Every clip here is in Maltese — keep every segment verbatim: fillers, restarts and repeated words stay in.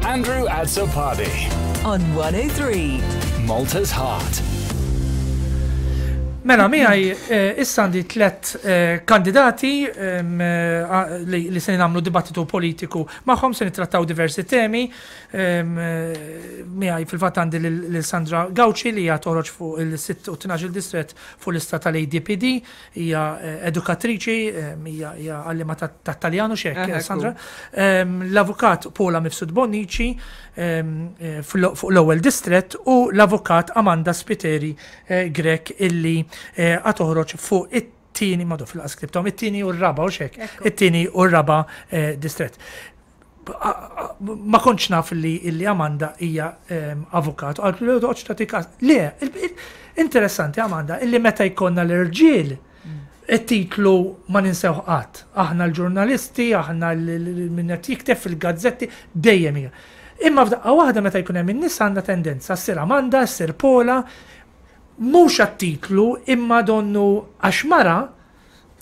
Andrew Azzopardi. On one oh three. Malta's Heart. Mela, miegħi eh, issa għandi tlet eh, kandidati em, eh, li, li se nagħmlu dibattitu politiku magħhom, se nittrattaw diversi temi. Em, eh, Miegħi fil-fatt għandi lil lil Sandra Gauci li hija toħroġ fuq il-sitt u tnax distret fuq lista tal-A D P D, hija eh, edukatriċi, em, hija hija għallima tat-Taljanu xek, Eh, Sandra. Em, L-avukat Paula Mifsud Bonnici em, eh, fuq l-ewwel distret u l-avukat Amanda Spiteri eh, Grech illi eh, għad toħroġ fuq it-tieni, madu fil-qas ktibthom, it-tieni u r-raba u xek, it-tieni u r-raba eh, distret. Ma kontx naf li illi Amanda hija em, avukat, u għalt li toqgħodx tagħti każ. Le, il- il- interessanti, Amanda, illi meta jkollna l-irġiel it-titlu ma ninsew qatt. Aħna l-ġurnalisti, aħna min qed jikteb fil-gazzetti, dejjem hija. Imma f'daqqa waħda meta jkun hemm in-nies għandha tendenza ssir Amanda, ssir Paula, mhux għat-titlu imma donnu għax mara.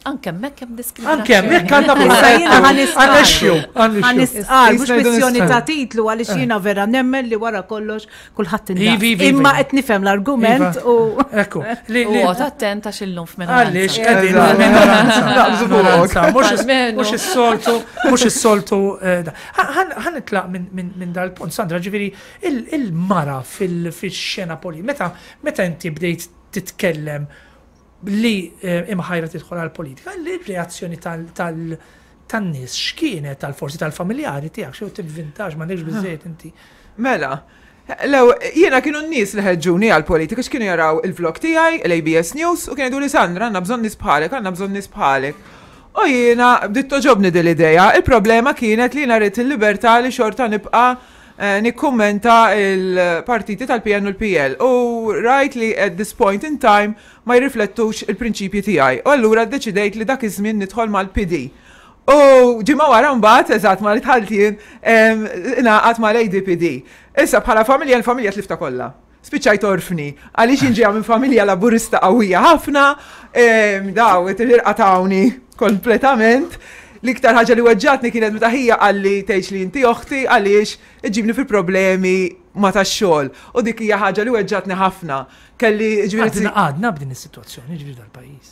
Anke hemmhekk hemm diskriminazzjoni. Anke hemmhekk għandna Issa jiena ħa nistqarr. għandna issue, għandna Ħa issue. nistqarr, mhux Jista' jkun kwestjoni nistqarr. ta' titlu, għaliex jiena vera nemmen li wara kollox kulħadd Ivi, ivi, indaqs. Imma ivi. qed nifhem l-argument Iva. u Ekku, li U li għot attent għax illum f'minoranza. Għaliex qegħdin Eżatt. minoranza. Naqbżu fuqok. Minoranza. Mhux is- Almenu. mhux is-soltu, mhux is-soltu. eh, da. Ħa nitlaq minn min, min dal-punt, Sandra, ġifieri il- il-mara fil-xena politika, meta meta inti bdejt titkellem li eh, imħajra tidħol għal-politika, l-reazzjoni tal- tal- tan-nies x'kienet, tal-forsi tal-familjari tiegħek, xew tivvintax, m'għandekx biżejjed inti? Mela, lew, jiena kienu n-nies li ħeġġuni għal-politika, x'kienu jaraw il-vlog tiegħi, l-A B S News, u kienu jgħidu li "Sandra, għandna bżonn nies bħalek, għandna bżonn nies bħalek." U jiena bdiet togħġobni din l-idea. Il-problema kienet li jiena rrid il-libertà li xorta nibqa' eh, nikkummenta il-partiti tal-P N u l-P L. U rajt li at this point in time ma jirriflettux il-prinċipji tiegħi. U allura ddeċidejt li dak iż-żmien nidħol mal-P D. U ġimgħa wara mbagħad, eżatt ma li dħalt jien, ingħaqadt mal-A D P D. Issa bħala familja, l-familja tlifta kollha. Spiċċajt orfni, għaliex inġija minn familja Laburista qawwija ħafna, em, daw, irqatawni kompletament. L-iktar ħaġa li weġġatni kienet meta ħija qalli, "Tgħidx li inti oħti għaliex iġibni fil-problemi ma tax-xogħol." U dik hija ħaġa li weġġatni ħafna. Kelli ġifieri Għadna għadna b'din is-sitwazzjoni ġifieri dal-pajjiż.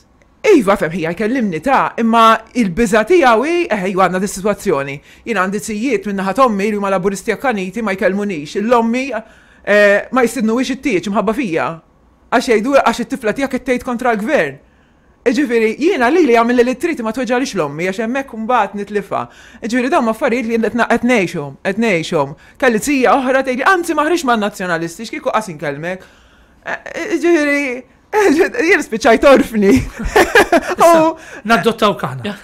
Iva, fem ħija jkellimni ta' imma il-biża tiegħu hi, eh, iva, għandna dis-sitwazzjoni. Jien għandi zijiet minn naħa t'ommi li huma Laburisti akkaniti, ma jkellmunix. L-ommi eh, ma jistidnuhiex it-tieġ imħabba fija. Għax jgħidu għax it-tifla tiegħek qed tgħid kontra l-gvern. Ġifieri, jiena li li għamil li trid ma tweġġalix l-ommi għax hemmhekk imbagħad nitlifha. Ġifieri dawn affarijiet li qed qed ngħixhom, qed ngħixhom. Kelli zija oħra tgħidli, "Anzi ma ħriġ man-Nazzjonalisti, x'kieku qas inkellmek." Eh, Ġifieri, jien spiċċajt orfni. U Naddottaw aħna.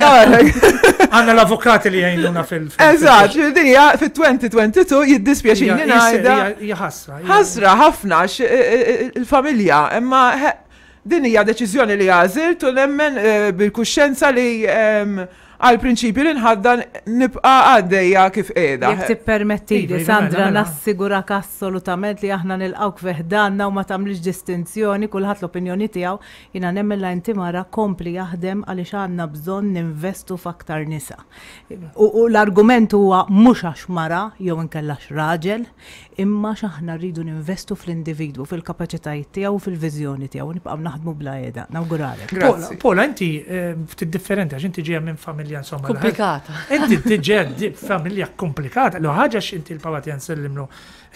Għandna l-avukati li jgħinuna fil- fil- Eżatt, ġifieri din hija fit-elfejn u tnejn u għoxrin, jiddispjaċini ngħidha. Hija ħasra. hija- Ħasra ħafna x- il-familja, imma he- din hija deċiżjoni li għażilt u nemmen eh, bil-kuxjenza li em, għal prinċipju li nħaddan nibqa' għaddejja kif qiegħda. Jekk tippermetti Iva, li iva, Sandra, mela, mela. nassigurak assolutament li aħna nilqawk fi ħdanna u ma tagħmlix distinzjoni, kulħadd l-opinjoni tiegħu. Jiena nemmen la inti mara, kompli jaħdem għaliex għandna bżonn ninvestu f'aktar nisa. U, u l-argument huwa mhux għax mara jew inkella raġel, imma x'aħna rridu ninvestu fl-individwu, fil-kapaċitajiet tiegħu u fil-viżjoni tiegħu, nibqgħu naħdmu bla heda. Nawguralek. Paula, Grazzi. Paula, inti eh, ftit differenti għax inti ġejja minn familja insomma. Komplikata. Inti ġejja di familja komplikata. Lo ħaġa inti l-papa tiegħek nsellimlu,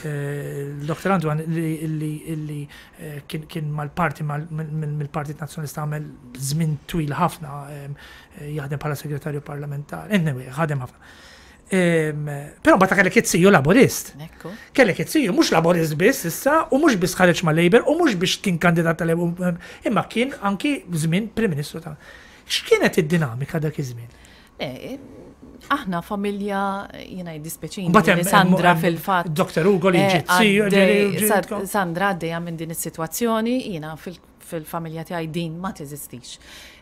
l-Doktor Antoine, li li li eh, kien kien mal-parti mal- mill- mill-Partit Nazzjonalista, għamel żmien twil ħafna em, eh, jaħdem bħala segretarju parlamentari. Anyway, ħadem ħafna. Em, Però bata kellek it-siju Laburist. Ekku. Kellek it-siju mhux Laburist biss issa, u mhux biss ħareġ ma' Labour, u mhux biex kien kandidat tal-Labour, imma kien anki żmien Prim Ministru ta' X'kienet id-dinamika dak iż-żmien? Le, aħna familja, jiena jiddispjaċini Mbagħad hemm- li Sandra hemm- fil-fatt. Doktor Ugo li eh, ġiet siju, għaddej- ġiet- Sa- Sandra għaddejja minn din is-sitwazzjoni, jiena fil- fil-familja tiegħi din ma teżistix.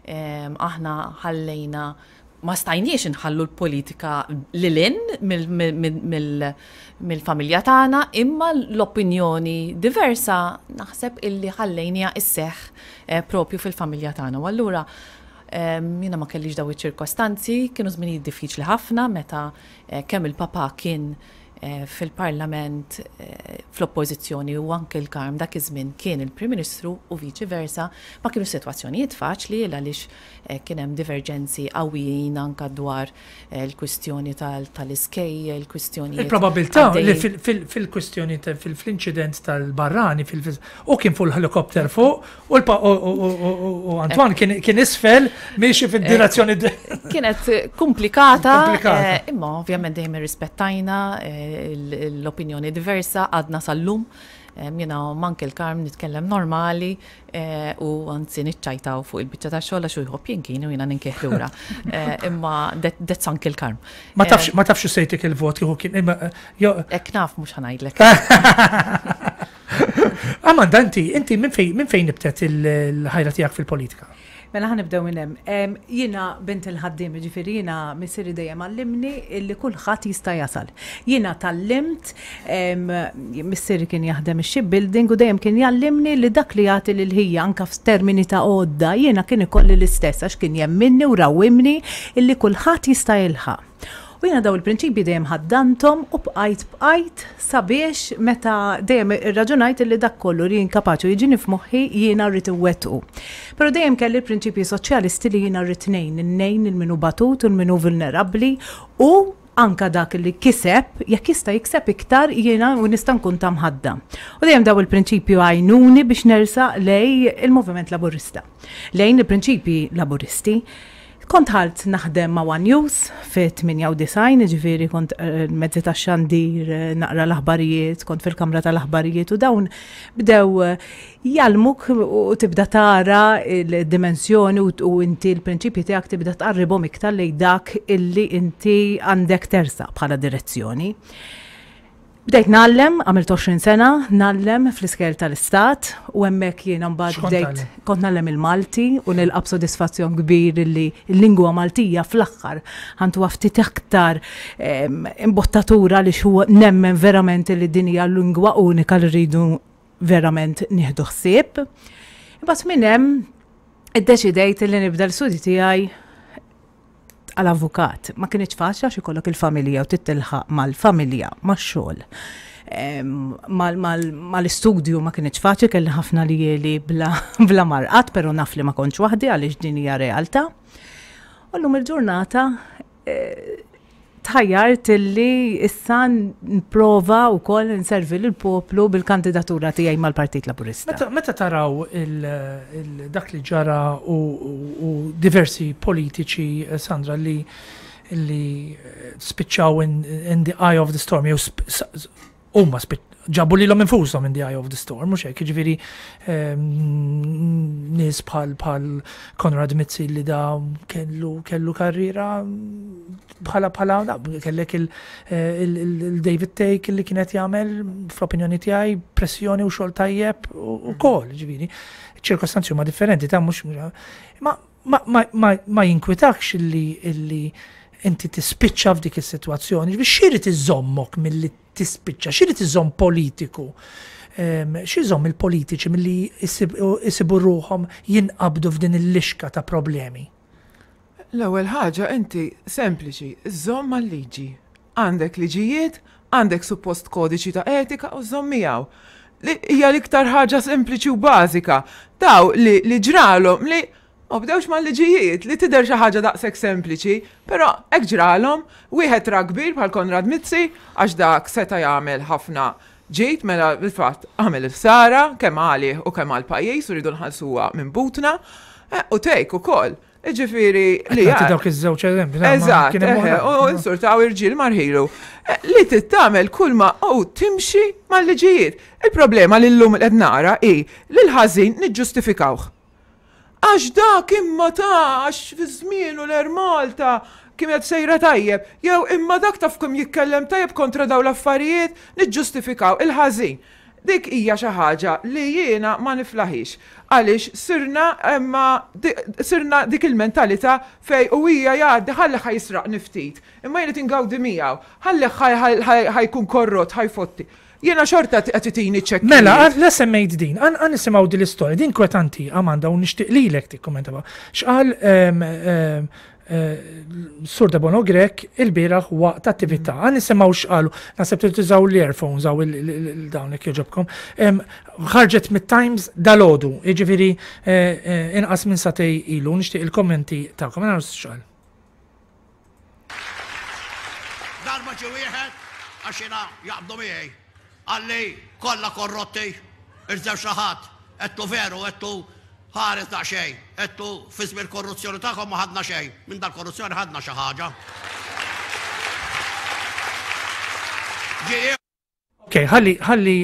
Em, Aħna ħallejna, ma stajniex inħallu l-politika lilin mill-familja tagħna, imma l-opinjoni diversa naħseb illi ħallejnija isseħ eh, propju fil-familja tagħna. U allura em, jiena ma kellix daw iċ-ċirkostanzi, kienu żminijiet diffiċli ħafna meta eh, kemm il-papa kien fil-parlament fl-oppożizzjoni u anke l-Karm dak iż-żmien kien il-Prim Ministru u viċi versa, ma kienu sitwazzjonijiet faċli għaliex kien hemm diverġenzi qawwijin anke dwar il-kwistjoni tal-iskejjel, il-kwistjoni. Il-probabilità li fil-kwistjoni fil-inċident tal-barrani u kien fuq l-helikopter fuq u Antoine kien isfel miexi fid-direzzjoni. Kienet komplikata, imma ovvjament dejjem irrispettajna l-opinjoni diversa, għadna sal-lum, jiena manke l-Karm nitkellem normali u anzi niċċajtaw fuq il-biċċa ta' xogħol għax hu jħobb jinkini u jiena ninkih lura. Imma that's Uncle Karm. Ma tafx ma tafx sejtik il-vot kieku kien Hekk naf mhux ħa ngħidlek. Amanda, inti inti minn fejn minn fejn nibtet il-ħajra tiegħek fil-politika? Mela ħa nibdew minn hemm. Jiena bint il-ħaddiem, ġifieri jiena missieri dejjem għallimni illi kulħadd jista' jasal. Jiena tgħallimt, missieri kien jaħdem ix-shipbuilding u dejjem kien jgħallimni li dak li jagħti lil ħija anke f'termini ta' għodda jiena kien ikolli l-istess għax kien jemminni u rawwimni illi kulħadd jista' jilħaq. U jiena daw il-prinċipji dejjem ħaddantom u bqajt bqajt sabiex meta dejjem irraġunajt illi dak kollu li jien kapaċi jiġini f'moħħi jiena rrid iwettqu. Però dejjem kelli l-prinċipji soċjalisti li jiena rrid ngħin, ngħin lil min hu batut u lil min hu vulnerabbli u anka dak li kiseb, jekk jista' jikseb iktar jiena u nista' nkun ta' mħadda. U dejjem daw il-prinċipju għajnuni biex nersaq lejn il-Moviment Laburista. Lejn il-prinċipji Laburisti. Kont ħalt naħdem ma' One News fi tmienja u disgħin, ġifieri kont mezzi ta' xandir, naqra l-aħbarijiet, kont fil-kamra tal-aħbarijiet u dawn bdew jgħallmuk u tibda tara il-dimensjoni u inti l-prinċipji tiegħek tibda tqarribhom iktar lejn dak illi inti għandek tersaq bħala direzzjoni. Bdejt ngħallem, għamilt għoxrin sena, ngħallem fl-iskejjel tal-istat u hemmhekk jiena mbagħad bdejt kont ngħallem il-Malti u nilqa' b'sodisfazzjon kbir li l-lingwa Maltija fl-aħħar ħa ntuha ftit aktar imbottatura li huwa nemmen verament li din hija lingwa unika li rridu verament nieħdu ħsieb. Imbagħad minn hemm iddeċidejt li nibda l-studji tiegħi għal-avukat. Ma kienx faċli għax ikollok il-familja u titilħaq mal-familja, max-xogħol. Mal-istudju ma kienx faċli, kelli ħafna ljieli bla, bla marqad, pero naf li ma kontx waħdi għaliex din hija realtà. U llum il-ġurnata eh, tħajjart illi issa nprova wkoll nservi lill-poplu bil-kandidatura tiegħi mal-Partit Laburista. Meta, meta taraw il, il, dak li ġara u, u, u diversi politiċi, eh, Sandra, li, li eh, spiċċaw in, in the eye of the storm, jew sp- s- huma ġabu lilhom infushom in the eye of the storm, mhux hekk, jiġifieri ehm, nies bħal bħal Konrad Mizzi li da kellu kellu karriera bħala bħala da, kellek il-David Thake li kienet jagħmel, fl-opinjoni tiegħi, pressjoni u xogħol tajjeb ukoll, ġifieri ċirkostanzi huma differenti ta' mhux ma ma ma ma, ma jinkwitakx illi illi inti tispiċċa f'dik is-sitwazzjoni, biex x'irid iżommok milli tispiċċa, x'irid iżomm politiku, x'iżomm il-politiċi milli jisibu ruħhom jinqabdu f'din il-lixka ta' problemi? L-ewwel ħaġa inti sempliċi, żomm mal-liġi. Għandek liġijiet, għandek suppost kodiċi ta' etika u żomm miegħu. Li hija l-iktar ħaġa sempliċi u bażika. Daw li, li ġralhom li ma bdewx mal-liġijiet, li tidher xi ħaġa daqshekk sempliċi, però hekk ġralhom, wieħed ra kbir bħal Konrad Mizzi għax dak seta' jagħmel ħafna ġid, mela bil-fatt għamel il-ħsara kemm għalih u kemm għall-pajjiż u rridu nħallsuha minn butna, eh, u Thake ukoll. Ġifieri li Għati dawk iż-żewġ eżempji. Eżatt, u insurtaw irġiel marħilu. Eh, li tittamel kull ma u timxi mal-liġijiet. Il-problema li llum qed nara hi li l-ħażin niġġustifikawh. Għax dak imma ta' għax fi żmienu l-Air Malta kienet sejra tajjeb, jew imma dak taf kemm jitkellem tajjeb kontra daw l-affarijiet, niġġustifikaw il-ħażin. Dik hija xi ħaġa li jiena ma niflaħix. Għaliex sirna imma sirna dik il-mentalità fej u hija jgħaddi ħalli ħa jisraq niftit. Imma jien ingawdi miegħu, ħalli ħa jkun korrott, ħa jfotti. Jiena xorta qed itini ċekk. Mela, la semmejt din, għan nisimgħu din l-istorja, din kwetanti, Amanda, u nixtieq lilek tikkummenta. X'qal Sur Debono Grech il-bieraħ waqt attività. Għan nisimgħu x'qalu, naħseb li tużaw l-earphones għaw il-dawn jekk jogħġobkom. Ħarġet mit-Times dalgħodu, jiġifieri inqas minn sagħtejn ilu, nixtieq il-kommenti tagħkom, naraw x'qal. Darba ġie wieħed għax jiena jaqbdu miegħi. Qalli kollha korrotti, irżew xi ħadd, għedtlu veru, għedtlu ħares daqsxejn, għedtlu fi żmien korruzzjoni tagħkom ma ħadna xejn, minn dal-korruzzjoni ħadna xi ħaġa. Ok, ħalli, ħalli,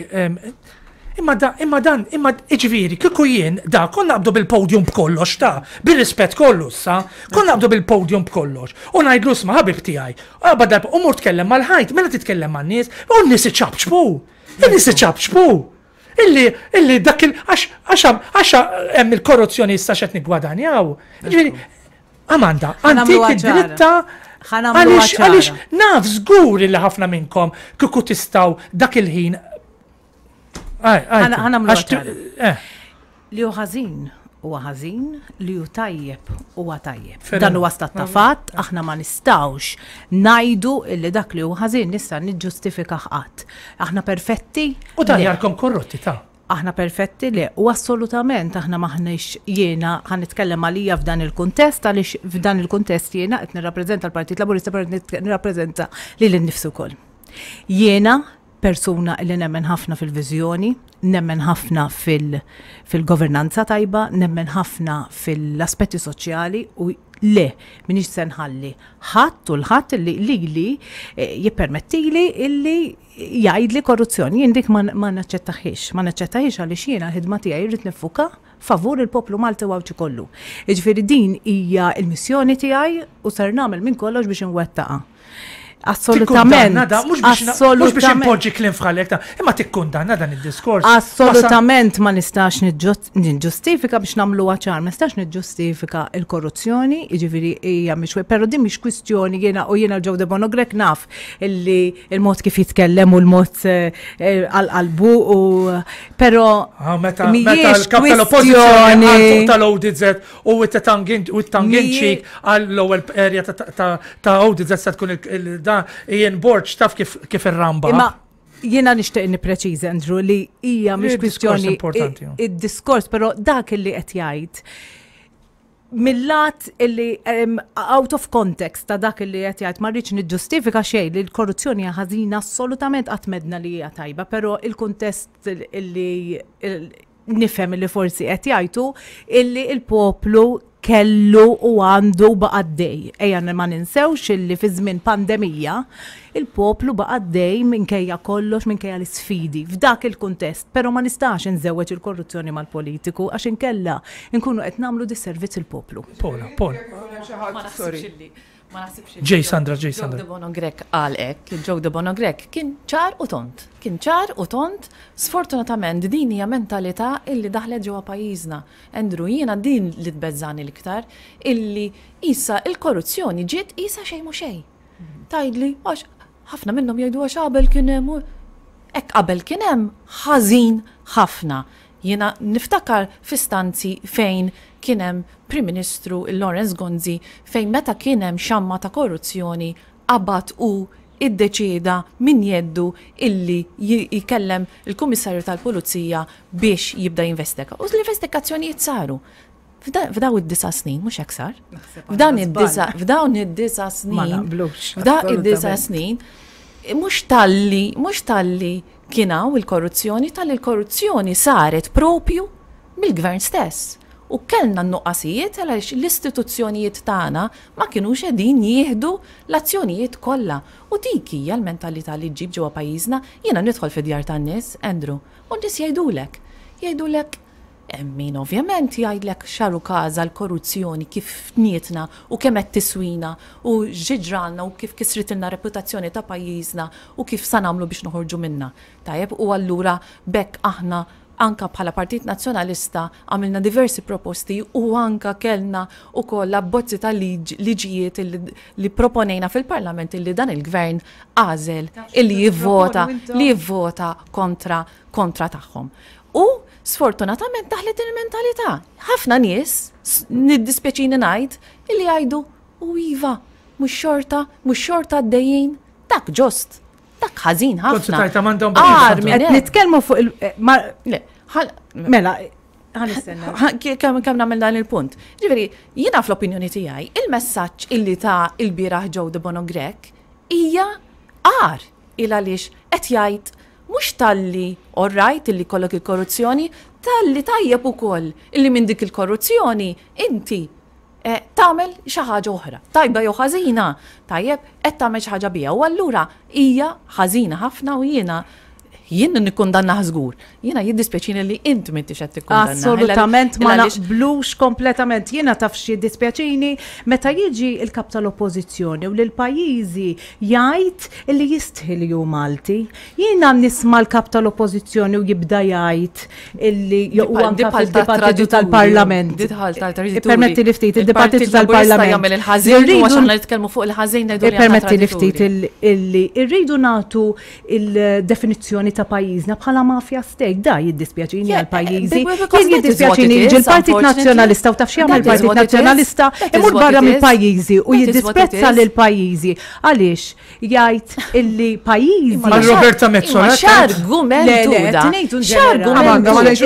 imma da, imma dan, imma iġifieri, kieku jien da, konna naqbdu bil-podium b'kollox ta', bir-rispett kollu sa, konna naqbdu bil-podium b'kollox. U ngħidlu sma' ħabib tiegħi, qabad darba, u mur tkellem mal-ħajt, mela titkellem man-nies, u n-nies iċapċpu, in-nies iċapċpu. Illi, illi dak il, għax, għax, għax hemm il-korruzzjoni issa x'qed niggwadanjaw. Ġifieri, Amanda, antik id-dritta għaliex, għaliex naf żgur illi ħafna minnkom kieku tistgħu dak il-ħin. Ħanamlu ċara. Li hu ħażin huwa ħażin, li hu tajjeb huwa tajjeb. Dan huwa stat ta' fatt, aħna ma nistgħux ngħidu illi dak li hu ħażin nista' niġġustifika qatt. Aħna perfetti. U dan jarkom korrotti ta' Aħna perfetti le, u assolutament aħna maħniex jiena ħa nitkellem għalija f'dan il-kuntest, għaliex f'dan il-kuntest jiena qed nirrappreżenta l-Partit Laburista, però qed nirrappreżenta lili nnifsi wkoll. Jiena persuna li nemmen ħafna fil-viżjoni, nemmen ħafna fil-governanza tajba, nemmen ħafna fil-aspetti soċjali u le, minix se nħalli ħadd u l-ħadd li lili jippermettili illi jgħidli korruzzjoni. Jien dik ma naċċettaħiex, ma naċċettaħiex għaliex jiena l-ħidma tiegħi rrid niffuka favur il-poplu Malti u Għawdxi kollu. Jiġifieri din hija l-missjoni tiegħi u ser nagħmel minn kollox biex inwettaqha. Assolutament. Mhux biex impoġġi kliem f'ħalek ta', imma tikkundanna dan id-diskors. Assolutament ma nistax niġġustifika biex nagħmluha ċar, ma nistax niġġustifika l-korruzzjoni, jiġifieri hija mhix, però din mhix kwistjoni jiena u jiena Joe Debono Grech naf illi il-mod kif jitkellem u l-mod għal qalbu u però meta l-kap tal-oppożizzjoni tal-O D Z u t-tanginċi għall-ewwel area ta' O D Z se tkun il Ian Borg taf kif irramba. Imma jiena nixtieq nippreċiża, Andrew, li hija mhix kwistjoni id-diskors, però dak illi qed jgħid mill-lat illi out of context ta' dak illi qed jgħid ma rridx niġġustifika xejn li l-korruzzjoni hija ħażina assolutament qatt medna li hija tajba, però il-kuntest illi nifhem illi forsi qed jgħidu illi il-poplu kellu u għandu baqa' għaddej. Ejja ma ninsewx illi fi żmien pandemija il-poplu baqa' għaddej minkejja kollox, minkejja l-isfidi f'dak il-kuntest, però ma nistax inżewweġ il-korruzzjoni mal-politiku għax inkella nkunu qed nagħmlu disservizz il-poplu. Pola, Pola. Ma naħsibx illi ma naħsibx Ġej Sandra, ġej Sandra. Joe Debono Grech qal hekk, Joe Debono Grech kien ċar u tont. Kien ċar u tont, sfortunatament din hija mentalità illi daħlet ġewwa pajjiżna. Andrew, jiena din li tbeżżani l-iktar, illi issa il-korruzzjoni ġiet isa xejn mhu xejn. Tgħidli, għax ħafna minnhom jgħidu għax qabel kien hemm, hekk qabel kien hemm ħażin ħafna. Jiena niftakar f'istanzi fejn kien hemm Prim Ministru Lawrence Gonzi fejn meta kien hemm xamma ta' korruzzjoni qabad u iddeċieda min jeddu illi jkellem il-Kummissarju tal-Pulizija biex jibda jinvestiga. U l-investigazzjonijiet saru. F'daw id-disa snin, mhux hekk sar. F'dawn id-disa, f'dawn id-disa snin, f'dawn id-disa snin, mhux talli, mhux talli kien hawn il-korruzzjoni, talli l-korruzzjoni saret propju mill-gvern stess. U kellna n-nuqqasijiet għaliex l-istituzzjonijiet tagħna ma kinux qegħdin jieħdu l-azzjonijiet kollha. U dik hija l-mentalità li ġġib ġewwa pajjiżna. Jiena nidħol fid-djar tan-nies, Andrew, u n-nies jgħidulek. Jgħidulek hemm min ovvjament jgħidlek xaru każa l-korruzzjoni kif fnietna u kemm qed tiswina u x'ġralna u kif kisritilna reputazzjoni ta' pajjiżna u kif sa nagħmlu biex noħorġu minna. Tajjeb, u allura bekk aħna anka bħala Partit Nazzjonalista għamilna diversi proposti u anka kellna ukoll abbozzi ta' liġijiet li proponejna fil-Parlament illi dan il-gvern għażel illi jivvota li jivvota kontra kontra tagħhom. U sfortunatament daħlet il-mentalità. Ħafna nies, niddispjaċini ngħid, illi jgħidu U iva, mhux xorta, mhux xorta għaddejjin, dak ġost, dak ħażin ħafna. Qed nitkellmu fuq il mela, kemm kemm nagħmel dan il-punt. Ġifieri, jiena fl-opinjoni tiegħi, il-messaġġ illi ta' il-bieraħ Joe Debono Grech hija għar il għaliex qed jgħid mhux talli all right illi kollok il-korruzzjoni, talli tajjeb ukoll illi minn dik il-korruzzjoni inti tagħmel xi ħaġa oħra. Tajba jew ħażina, tajjeb qed tagħmel xi ħaġa biha. U allura hija ħażina ħafna u jiena jien nikkundanna żgur. Jiena jiddispjaċini li int m'intix qed tikkundanna. Assolutament ma naqblux kompletament. Jiena taf xi jiddispjaċini meta jiġi il-kap tal-oppożizzjoni u lil pajjiżi jgħid illi jistħi li hu Malti. Jiena nisma' l-kap tal-oppożizzjoni u jibda jgħid illi u anke fid-dibattitu tal-Parlament. Permetti li ftit id-dibattitu tal-Parlament. Jagħmel il-ħażin u għax aħna nitkellmu fuq il-ħażin ngħidu. Permetti li ftit illi rridu nagħtu il-definizzjoni ta' pajjiżna bħala mafia state, da jiddispjaċini għal pajjiżi. Jien jiddispjaċini jiġi l-Partit Nazzjonalista u taf x'jagħmel il-Partit Nazzjonalista imur barra mill-pajjiżi u jiddisprezza lil pajjiżi. Għaliex jgħid illi pajjiżi. Roberta Metsola. X'argument X'argument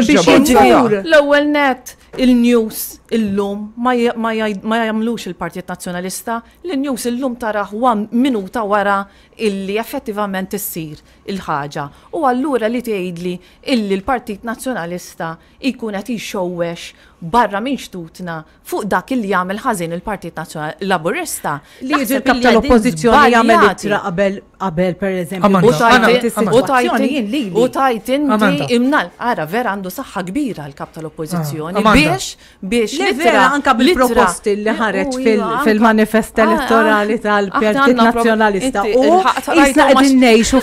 L-ewwel net il-news illum ma jagħmlux il-Partit Nazzjonalista, l-news illum taraħ minuta wara illi effettivament issir il-ħaġa. U allura li tgħidli illi l-Partit Nazzjonalista jkun qed jxowwex barra minn xtutna fuq dak illi jagħmel ħażin il-Partit Nazzjonali Laburista. Li jiġi l-kap tal-Oppożizzjoni jagħmel ittra qabel qabel pereżempju. U tajt inti imnal. Ara vera għandu saħħa kbira l-kap tal-Oppożizzjoni biex biex li vera anka bil-proposti li ħareġ fil-manifest elettorali tal-Partit Nazzjonalista. U jisna qegħdin ngħixu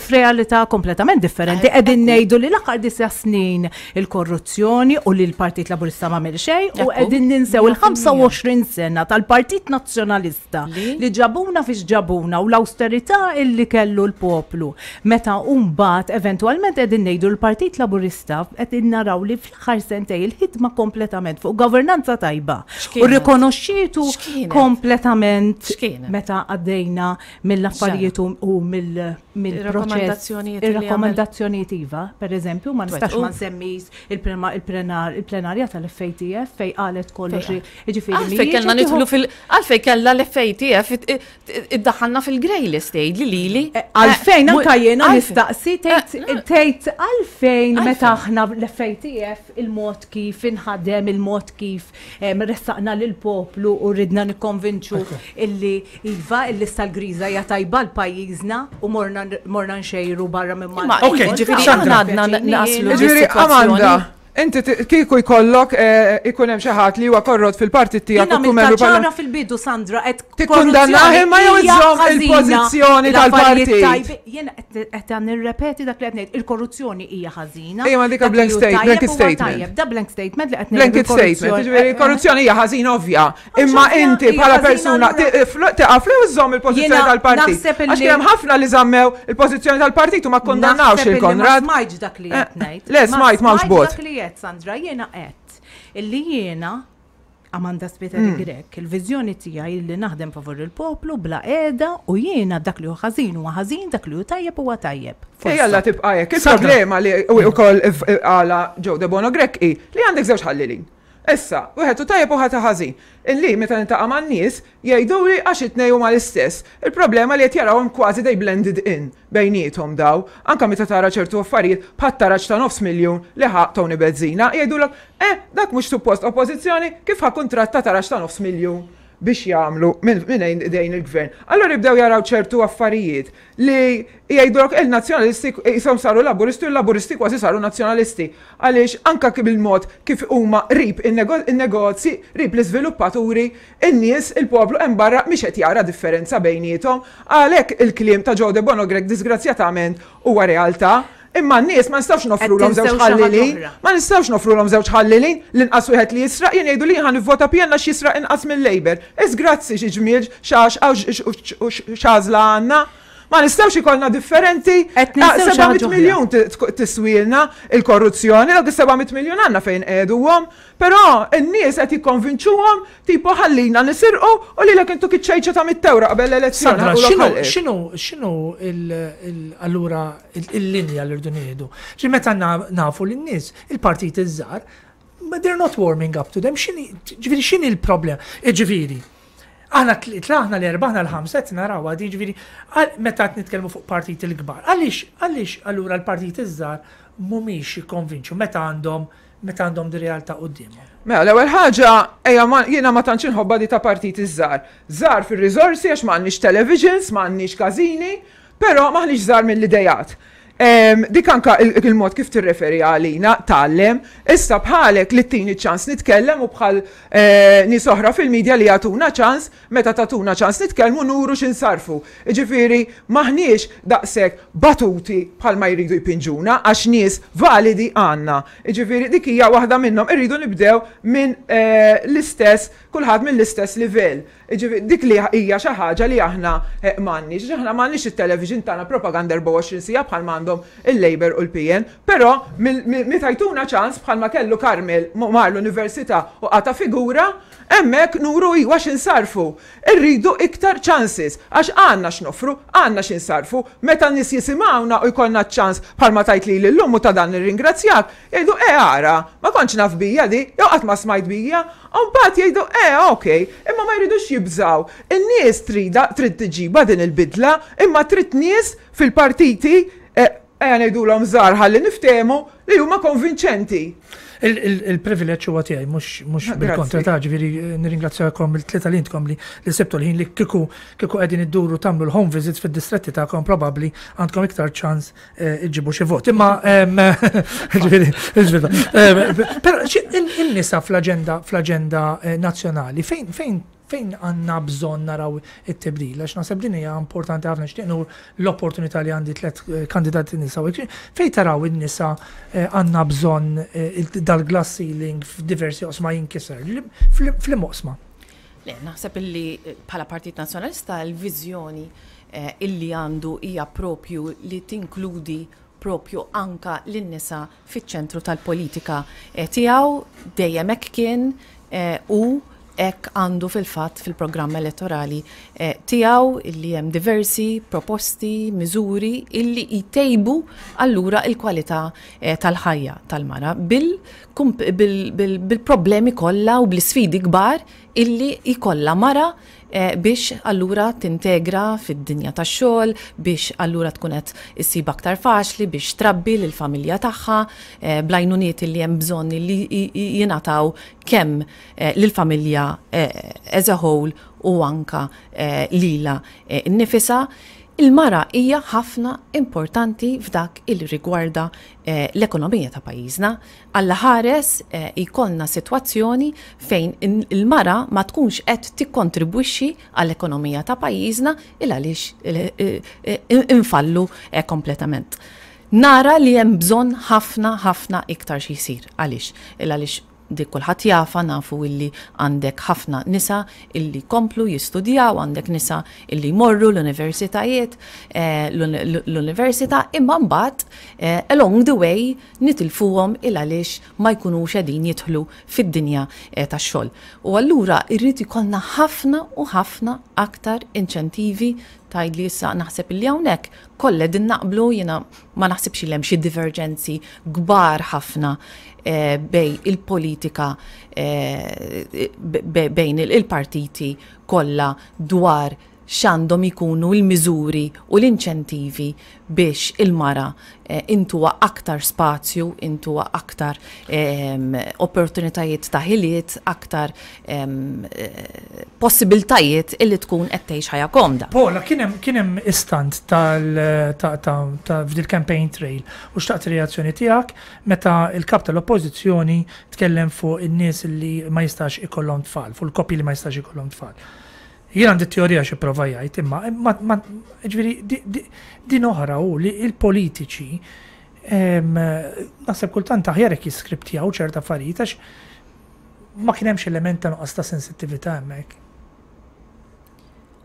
f'realità kompletament differenti. Qegħdin ngħidu li l-aħħar disa' snin il-korruzzjoni u li l-Partit Laburista ma għamel xejn u qegħdin ninsew il-ħamsa u għoxrin sena tal-Partit Nazzjonalista li ġabuna fiex ġabuna u l-awsterità illi kellu l-poplu. Meta mbagħad eventwalment qegħdin ngħidu l-Partit Laburista qegħdin naraw li fl-aħħar sentej il-ħidma kompletament fuq governanza tajba u rikonoxxietu kompletament meta għaddejna mill-affarijiet u mill-proċess. Ir-rakkomandazzjonijiet iva, per eżempju, ma nistax ma nsemmis il-plenarja tal-F A T F fej qalet kollox. Għalfej kellna nidħlu fil għalfej kellha l-F A T F iddaħħalna fil-grey list tgħidli lili. Għalfejn anke jiena nistaqsi tgħid għalfejn meta aħna l-F A T F il-mod kif inħadem, il-mod kif ressaqna lill-poplu u ridna nikkonvinċu illi iva il-lista l-griża hija tajba l-pajjiżna u morna nxejru barra minn Malta. Ok, ġifieri aħna għadna naslu. Ġifieri Amanda, inti kieku jkollok ikun hemm xi ħadd li huwa korrott fil-partit tiegħek u tkun membru ċara fil-bidu Sandra qed tikkundannah imma jew iżżomm il-pożizzjoni tal-partit. Jiena qed nirrepeti dak li qed ngħid, il-korruzzjoni hija ħażina. Ejja ma dik blank statement, blanket statement. Da blank statement li qed ngħid. Blanket statement, jiġifieri korruzzjoni hija ħażina ovvja, imma inti bħala persuna tieqaf li iżżomm il-pożizzjoni tal-partit. Għax kien hemm ħafna li żammew il-pożizzjoni tal-partit u ma kkundannawx il-Konrad. Ma smajtx dak li qed ngħid. Le smajt m'hawnx bot. Sandra, jiena qed illi jiena Amanda Spiteri Grech, il-viżjoni tiegħi li naħdem favur il-poplu bla qiegħda u jiena dak li hu ħażin huwa ħażin, dak li hu tajjeb huwa tajjeb. Ejja tibqa' hekk. Il-problema li wkoll għala Joe Debono Grech hi li għandek żewġ ħallilin. Issa, wieħed hu tajjeb u ħadd ħażin. Illi meta nintaqa' man-nies jgħiduli għax it-tnejn huma l-istess. Il-problema li qed jarawhom kważi they blended in bejniethom daw. Anka meta tara ċertu affarijiet bħat taraġ ta' nofs miljun li ħa Tony Bezzina jgħidulek eh dak mhux suppost oppożizzjoni kif ħa kuntratt ta' taraġ ta' nofs miljun biex jagħmlu minn idejn il-gvern. Allora jibdew jaraw ċertu affarijiet li jgħidulek il-nazzjonalisti jisom saru laburisti u l-laburisti kważi saru nazzjonalisti. Għaliex anka bil-mod kif huma qrib in-negozji, qrib l-iżviluppaturi, in-nies, il-poplu hemm barra mhix qed jara differenza bejniethom. Għalhekk il-kliem ta' Joe Debono Grech disgrazzjatament huwa realtà. Imma n-nies ma nistgħux nofrulhom żewġ ħallilin, ma nistgħux nofrulhom żewġ ħallilin, l-inqas wieħed li jisraq jien jgħidu li ħan nivvota P N għax jisraq inqas mill-Labour. Is grazzi xi ġmiel x'għażla għandna. Ma nistgħux ikollna differenti. Qed ninsew xi seba' mitt ħaġa oħra. miljun tiswilna il-korruzzjoni, dawk is-seba' mitt miljun għandna fejn qiegħduhom, però n-nies qed jikkonvinċuhom tipo ħallina nisirqu u lilek intu kiċċejċa ta' mitt ewro qabel l-elezzjoni. Sandra, ħaqulok x'inhu ħalqek. x'inhu x'inhu il- allura il-linja li rridu nieħdu? Ġi meta nafu lin-nies, il-partit iż-żgħar, but they're not warming up to them. X'inhi, ġifieri x'inhi l-problem? Ġifieri, aħna tlieta, aħna l-erba', aħna l-ħamsa qed naraw għadi, ġifieri, meta qed nitkellmu fuq partit il-kbar. Għaliex, għaliex allura l-partit iż-żgħar mhumiex jikkonvinċu meta għandhom meta għandhom di realtà quddiemhom? Mela, l-ewwel ħaġa, ejja jiena ma tantx inħobbha di ta' partit iż-żgħar. Żgħar fir-riżorsi għax m'għandniex televisions, m'għandniex każini, però m'aħniex żgħar mill-idejat. Dik anka il-mod kif tirreferi għalina, tgħallem, issa bħalek li tini ċans nitkellem u bħal eh, nies oħra fil-medja li jagħtuna ċans, meta tagħtuna ċans nitkellmu nuru x'insarfu. Ġifieri maħniex daqshekk batuti bħal ma jridu jpinġuna għax nies validi għandna. Ġifieri dik hija waħda minnhom, irridu nibdew minn eh, l-istess, kulħadd mill-istess livell. Ġifieri dik li hija xi ħaġa li aħna eh, m'għandniex, aħna m'għandniex it-television tagħna propaganda erbgħa u għoxrin siegħa bħal m'għandhom il-Labour u l-P N, però meta jtuna ċans bħalma kellu Carmel mar l-università u qata figura, hemmhekk nuru iwa x'insarfu. Irridu iktar chances, għax għandna x'nofru, għandna x'insarfu, meta nies jisimgħuna u jkollna ċans bħalma tajt li l-lum u ta' dan nirringrazzjak, jgħidu e ara, ma kontx naf bija di, jew qatt ma smajt bija, u mbagħad jgħidu e okej, imma ma jridux jibżaw. In-nies trida trid tiġiba din il-bidla, imma trid nies fil-partiti eh, ejja ngħidulhom żgħar ħalli niftehmu li huma konvinċenti. Il-privileġġ huwa tiegħi, mhux mhux Ah, bil-kontra grazzi. ta' ġifieri nirringrazzjakom il-tlieta li intkom li li sibtu l-ħin li kieku kieku qegħdin idduru tagħmlu l-home visits fid-distretti tagħkom, probabbli għandkom iktar ċans eh, iġibu xi vot. Imma em, ġifieri ġifieri, em, però xi- in- in-nisa fl-aġenda fl-aġenda eh, nazzjonali fejn fejn fejn għandna bżonn naraw it-tibdil, għax naħseb din hija importanti ħafna, xtieq l-opportunità li għandi tliet eh, kandidati nisa u hekk. Fejn taraw in-nisa eh, għandna bżonn eh, il- dal-glass ceiling f'diversi oqsma jinkiser, Li- fl- fl-oqsma? Le, naħseb illi eh, bħala Partit Nazzjonalista l-viżjoni eh, illi għandu hija propju li tinkludi propju anka lin-nisa fiċ-ċentru tal-politika eh, tiegħu. Dejjem hekk kien eh, u hekk għandu fil-fatt fil-programm elettorali eh, tiegħu illi hemm diversi proposti, miżuri illi jtejbu allura il-kwalità eh, tal-ħajja tal-mara bil-problemi kollha u bl-isfidi kbar illi jkollha mara eh, biex allura tintegra fid-dinja tax-xogħol, biex allura tkun qed issib aktar faċli biex trabbi lill-familja tagħha, eh, bl-għajnuniet illi hemm bżonn li jingħataw kemm eh, lill-familja as a whole u anka lila nnifisha. Il-mara hija ħafna importanti f'dak il rigwarda eh, l-ekonomija ta' pajjiżna. Alla ħares eh, jkollna sitwazzjoni fejn il-mara ma tkunx qed tikkontribwixxi għall-ekonomija ta' pajjiżna il għaliex eh, infallu eh, kompletament. Nara li hemm bżonn ħafna ħafna iktar xi jsir. Għaliex? Il għaliex dik kulħadd jafa, nafu illi għandek ħafna nisa illi komplu jistudjaw, għandek nisa illi jmorru l-universitajiet, eh, l-università, imma mbagħad eh, along the way nitilfuhom il għaliex ma jkunux qegħdin jidħlu fid-dinja eh, tax-xogħol. U allura irrid ikollna ħafna u ħafna aktar inċentivi. Tgħidli issa naħseb illi hawnhekk kollha din naqblu, jiena ma naħsibx li hemm xi divergenzi kbar ħafna eh, bejn il-politika eh, bejn il-partiti kollha dwar x'għandhom ikunu l-miżuri u l-inċentivi biex il-mara eh, intuha aktar spazju, intuha aktar eh, opportunitajiet ta' ħiliet, aktar eh, possibiltajiet illi tkun qed tgħix ħajja komda. Paula, kien hemm kien hemm istant tal ta' ta' ta' f'dil campaign trail u xtaqt reazzjoni tiegħek meta il-kap tal-oppożizzjoni tkellem fuq in-nies li ma jistax ikollhom tfal, fuq il-koppji li ma jistax ikollhom tfal. Jien għandi teorija xi prova jgħid, imma ma ġifieri din oħra hu li il-politiċi naħseb kultant aħjar jekk jiskriptjaw ċerta affarijiet, għax ma kien hemmx element ta' nuqqas ta' sensittività hemmhekk.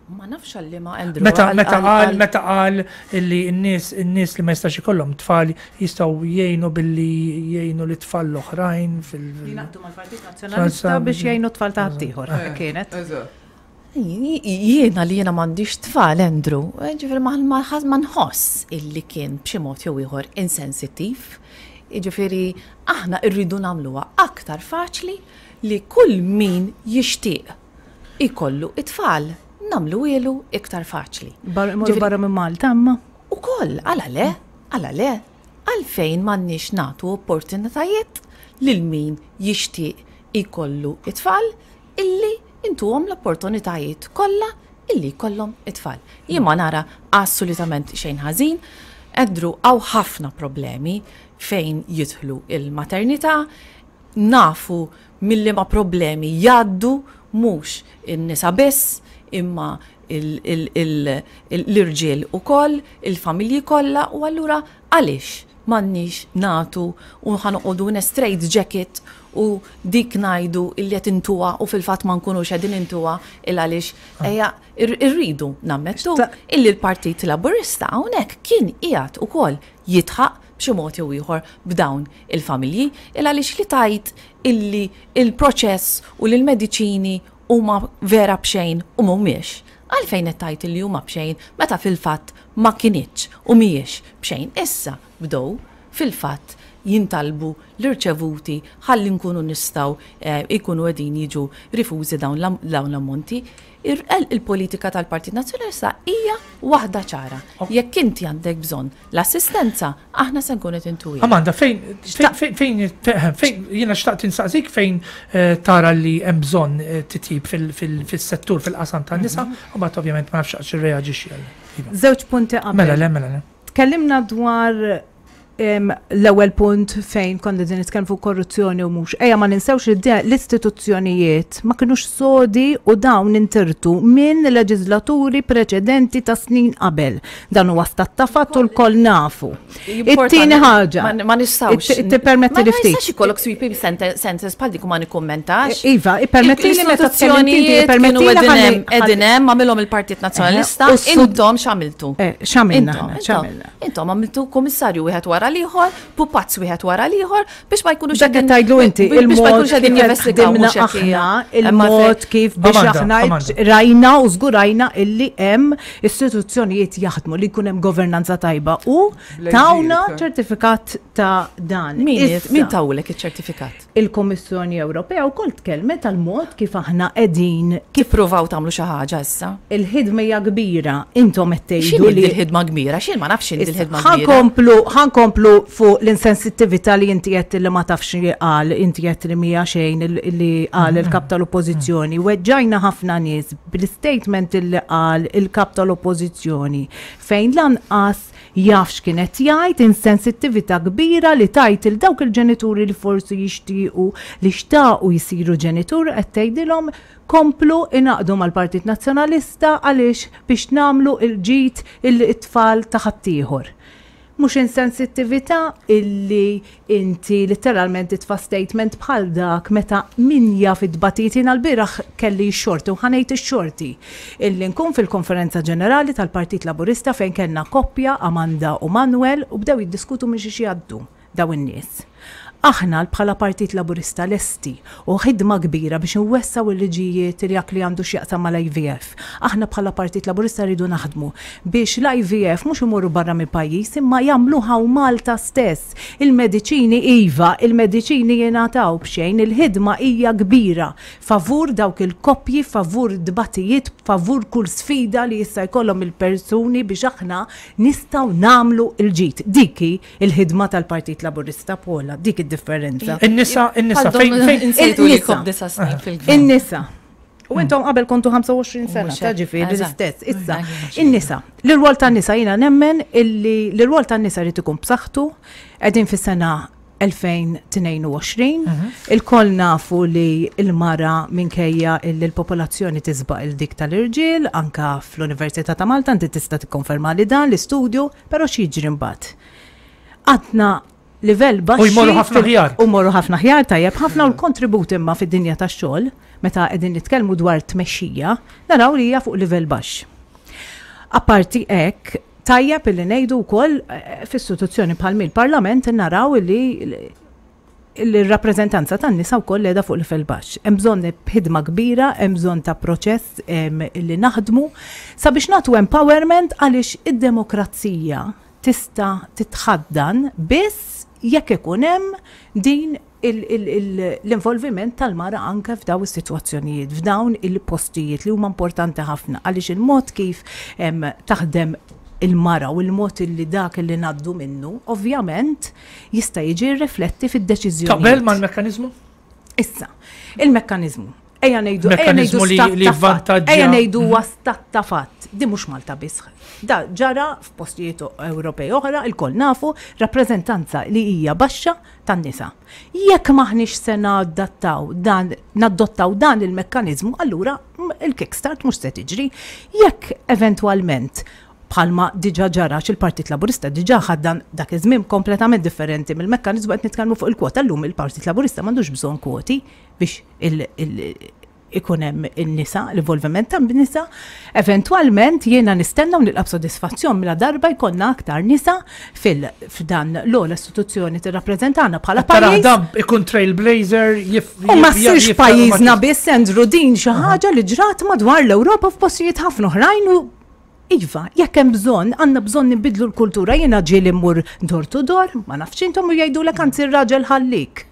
Ma nafx għalli ma Andrew. Meta meta qal meta qal illi n-nies in-nies li ma jistax ikollhom tfal jistgħu jgħinu billi jgħinu li tfal l-oħrajn fil. Jingħaqdu mal-Partit Nazzjonalista biex jgħinu tfal ta' ħaddieħor kienet. Jiena li jiena m'għandix tfal, Andrew, ġifieri ma nħoss illi kien b'xi mod jew ieħor insensittiv. Ġifieri aħna rridu nagħmluha aktar faċli li kull min jixtieq ikollu it-tfal nagħmlu ilu iktar faċli. Morru barra minn Malta, imma. U koll, għala le, għala le, għalfejn m'għandniex nagħtu opportunitajiet lil min jixtieq ikollu it-tfal illi intuhom l-opportunitajiet kollha illi jkollhom it-tfal. Jien ma nara assolutament xejn ħażin, Andrew hawn ħafna problemi fejn jidħlu il-maternità, nafu milli ma problemi jgħaddu mhux in-nisa biss, imma l-irġiel ukoll, il-familji kollha, u allura għaliex m'għandniex nagħtu u ħa noqogħdu in a straight jacket u dik ngħidu illi qed intuha u fil-fatt ma nkunux qegħdin intuha il għaliex ejja irridu nammettu illi l-Partit Laburista hawnhekk kien qiegħed ukoll jidħaq b'xi mod jew ieħor b'dawn il-familji il għaliex li tajt illi il-proċess u l-mediċini huma vera b'xejn u mhumiex. Għalfejn qed tgħid illi huma b'xejn meta fil-fatt ma kinitx u mhijiex b'xejn. Issa bdew fil-fatt jintalbu l-irċevuti ħalli nkunu nistgħu ikunu qegħdin jiġu rifużi dawn l-ammonti. Il-politika tal-Partit Nazzjonalista hija waħda ċara. Jekk inti għandek bżonn l-assistenza, aħna se nkunu qed intuha. Amanda, fejn fejn fejn jiena xtaqt insaqsik fejn tara li hemm bżonn titjib fis-settur fil-qasam tan-nisa, u mbagħad ovvjament ma nafx x'għax irreaġixxi għal. Żewġ punti qabel. Mela le, mela le. Tkellimna dwar l-ewwel punt fejn konna qegħdin nitkellmu fuq korruzzjoni u mhux. Ejja ma ninsewx li l-istituzzjonijiet ma kinux sodi u dawn intirtu minn leġislaturi preċedenti ta' snin qabel. Dan huwa stat ta' fatt u lkoll nafu. It-tieni ħaġa. Ma nistgħux. Tippermetti li Ma ftit. nistax ikollok sweeping sentences bħal dik u ma nikkummentax. Iva, ippermetti li meta tkellimt inti, ippermetti li ħalli- Qegħdin hemm għamilhom il-Partit Nazzjonalista, U s-sud- intom x'għamiltu? Eh, x'għamilna Intom, aħna, intom, x'għamilna? Intom għamiltu kummissarju wieħed wara l-ieħor, pupazz wieħed wara l-ieħor biex ma jkunux Dak qed tgħidlu inti, biex ma il-mod jkunux qegħdin kif qed jinvestigaw ħdimna mhux hekk hija. aħna, Imma fe- il-mod kif biex Amanda, aħna Amanda. rajna u żgurajna illi hemm istituzzjonijiet jaħdmu li jkun hemm governanza tajba u tawna ċertifikat ta' dan. Min Issa, min tawlek iċ-ċertifikat? Il-Kommissjoni Ewropea wkoll tkellmet tal-mod kif aħna qegħdin kif Tippruvaw tagħmlu xi ħaġa issa. il-ħidma hija kbira, intom qed tgħidu X'inhi li l-ħidma kbira? X'in ma nafx x'inhi l-ħidma kbira. Ħa nkomplu, ħa nkomplu fuq l-insensittività li inti qed li ma tafx li qal, inti qed li mija xejn il- li qal il-kap tal-oppożizzjoni. Weġġajna ħafna nies bil-statement li qal il-kap tal-oppożizzjoni fejn lanqas jaf x'kienet jgħid insensittività kbira li tajt il dawk il-ġenituri li forsi jixtiequ li xtaqu jisiru ġenitur qed tgħidilhom komplu ingħaqdu mal-Partit Nazzjonalista għaliex biex nagħmlu il-ġid il-tfal ta' ħaddieħor. Mhux insensittività illi inti letteralment titfa' statement bħal dak meta min jaf id-batijiet jiena l-bieraħ kelli x-xorti u ħa ngħid ix-xorti illi nkun fil-konferenza ġenerali tal-Partit Laburista fejn kellna koppja Amanda u Manuel u bdew jiddiskutu minn xi jgħaddu daw in-nies. Aħna bħala Partit Laburista lesti u ħidma kbira biex nwessaw il-liġijiet li dak li għandu x'jaqsam mal-I V F. Aħna bħala Partit Laburista rridu naħdmu biex l-I V F mhux imorru barra mill-pajjiż imma jagħmluha u Malta stess. Il-mediċini iva, il-mediċini jingħataw b'xejn, il-ħidma hija kbira favur dawk il-koppji, favur dbatijiet, favur kull sfida li jista' jkollhom il-persuni biex aħna nistgħu nagħmlu il-ġid. Dik hi il-ħidma tal-Partit Laburista Pola, dik id-differenza. In-nisa, in-nisa, fejn fejn Insejtu li Il-nisa. kom disa' snin fil-gvern. In-nisa. U intom qabel kontu ħamsa u għoxrin sena, Mhux ta' hekk, ġifieri eżatt. l-istess. Issa, Mhux in-nisa, l-rwol tan-nisa jiena nemmen illi l-rwol tan-nisa rrid ikun b'saħħtu, qegħdin fis-sena elfejn u tnejn u għoxrin, ilkoll nafu li il-mara minkejja illi l-popolazzjoni tisbaq il-dik tal-irġiel, anka fl-Università ta' Malta, inti tista' tikkonferma li dan l-istudju, però x'jiġri mbagħad? Għadna livell baxxi. U jmorru ħafna fil- aħjar. U morru ħafna aħjar, tajjeb ħafna, u l-kontribut imma fid-dinja tax-xogħol Meta qegħdin nitkellmu dwar tmexxija, naraw li hija fuq livell baxx. Apparti hekk, tajjeb illi ngħidu wkoll eh, f'istituzzjoni bħal mill-Parlament naraw li il-rappreżentanza tan-nisa wkoll qiegħda fuq livell baxx. Hemm bżonn ħidma kbira, hemm bżonn ta' proċess em, li naħdmu sabiex nagħtu empowerment, għaliex id-demokrazija tista' titħaddan biss jekk ikun hemm din il- il- il- l-involviment tal-mara anke f'daw is-sitwazzjonijiet, f'dawn il-postijiet li huma importanti ħafna, għaliex il-mod kif em, taħdem il-mara u il-mod li dak li ngħaddu minnu, ovvjament jista' jiġi rifletti fid-deċiżjoni. Taqbel mal-mekkanizmu? Issa, il-mekkanizmu. Ejja ngħidu, ejja Mekkanizmu ngħidu li- stat li ta' fatt. vantaġġja- Ejja ngħidu huwa stat ta' fatt. Di mhux Malta biss. Da ġara f'postijiet Ewropej oħra, il-koll nafu, rappreżentanza li hija baxxa tan-nisa. Jekk maħniex se nadattaw dan, nadottaw dan il-mekkaniżmu, allura mm, il-kickstart mhux se tiġri. Jekk eventwalment, bħalma diġà ġara, il-Partit Laburista diġà ħaddan dak iż-żmien kompletament differenti mill-mekkaniżmu qed nitkellmu fuq il-kwota, llum il-Partit Laburista m'għandux bżonn kwoti biex il- il- ikun hemm in-nisa, l-involviment ta' nisa. Eventwalment jiena nistenna u nilqa' b'sodisfazzjon mela darba jkollna aktar nisa fil f'dan l-ogħla istituzzjoni tirrappreżentana bħala Tara pajjiż. dan ikun trailblazer, jif. U ma jif- ssirx jif- pajjiżna biss, Andrew, din xi ħaġa li ġrat madwar l-Ewropa f'postijiet ħafna oħrajn u iva, jekk hemm bżonn, għandna bżonn nibidlu l-kultura. Jiena ġieli mmur door to door, ma nafx intom, u jgħidulek anzi r-raġel ħallik.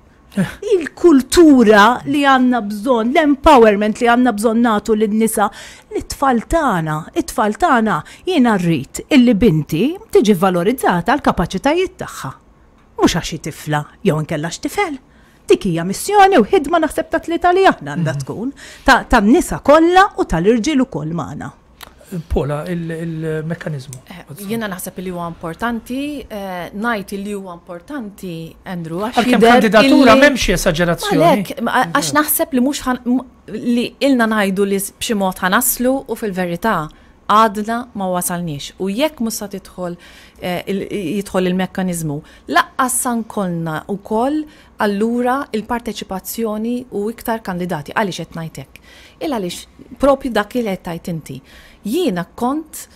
Il-kultura li għandna bżonn, l-empowerment li għandna bżonn nagħtu lin-nisa, l-tfal tagħna, it-tfal tagħna, jiena rrid illi binti tiġi valorizzata l-kapaċitajiet tagħha. Mhux għax hi tifla jew inkella tifel. Dik hija missjoni u ħidma naħseb ta' tlieta li aħna għandha tkun ta' tan-nisa kollha u tal-irġiel ukoll magħna. Pola, il-mekkanizmu. Eh, Jiena naħseb li huwa importanti, eh, ngħid li huwa importanti, Andrew, għax Għalkemm jidher kandidatura illi- m'hemmx esagerazzjoni. Għalhekk, ma- għax naħseb li mhux ħan- m- li ilna ngħidu li b'xi mod ħa naslu u fil-verità għadna ma wasalniex. U jekk mhux sa tidħol eh, il- jidħol il-mekkaniżmu, lanqas sa nkollna wkoll allura il-parteċipazzjoni u iktar kandidati. Għaliex qed ngħid hekk? Il għaliex propju dak li qed tgħid inti. Jiena kont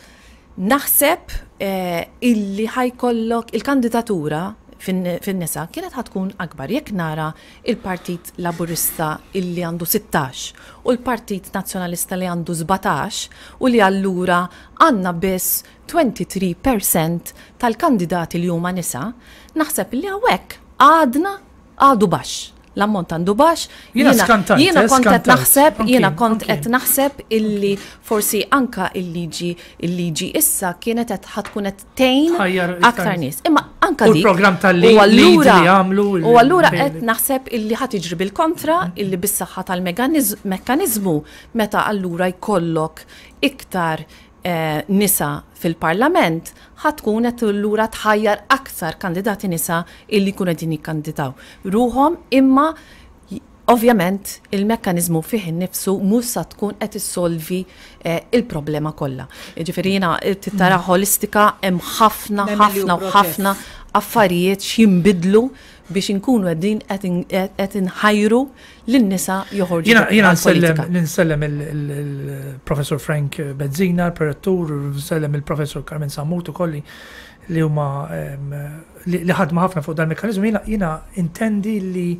naħseb eh, illi ħa jkollok il-kandidatura fin-nisa kienet ħa tkun akbar. Jekk nara il-Partit Laburista illi għandu sittax u l-Partit Nazzjonalista li għandu sbatax u li allura għandna biss twenty-three percent tal-kandidati li huma nisa, naħseb li hawnhekk għadna għadu baxx. L-ammont għandu baxx. Jiena skantajt, Jiena eh, kont qed skantajt. naħseb, jiena Anki, kont anki. qed naħseb illi forsi anka il-liġi il-liġi issa kienet qed ħa tkun qed tgħin Tħajjar iktar aktar nies. nies. Imma anka U dik. l-programm tal-lead U allura li għamlu il- U allura il- qed naħseb illi ħa tiġri bil-kontra, illi bis-saħħa tal-mekkaniżmu meta allura jkollok iktar eh, nisa fil-parlament, ħa tkun qed allura tħajjar aktar kandidati nisa illi jkunu qegħdin jikkandidaw ruhom, imma j- ovvjament il-mekkanizmu fih innifsu mhux sa tkun qed issolvi eh, il-problema kollha. Ġifieri jiena tara ħolistika, hemm ħafna Nemmen li hu ħafna u proċess. ħafna affarijiet x'jinbidlu biex inkunu qegħdin qed inħajru lin-nisa joħorġu Jiena jiena nsellem għall-politika. ninsellem il-Professor Frank Bezzina, il-Prorettur, nsellem il-Professor Carmen Sammut ukoll li huma em, li li ħadma ħafna fuq dal-mekkanizmu. Jiena jiena intendi li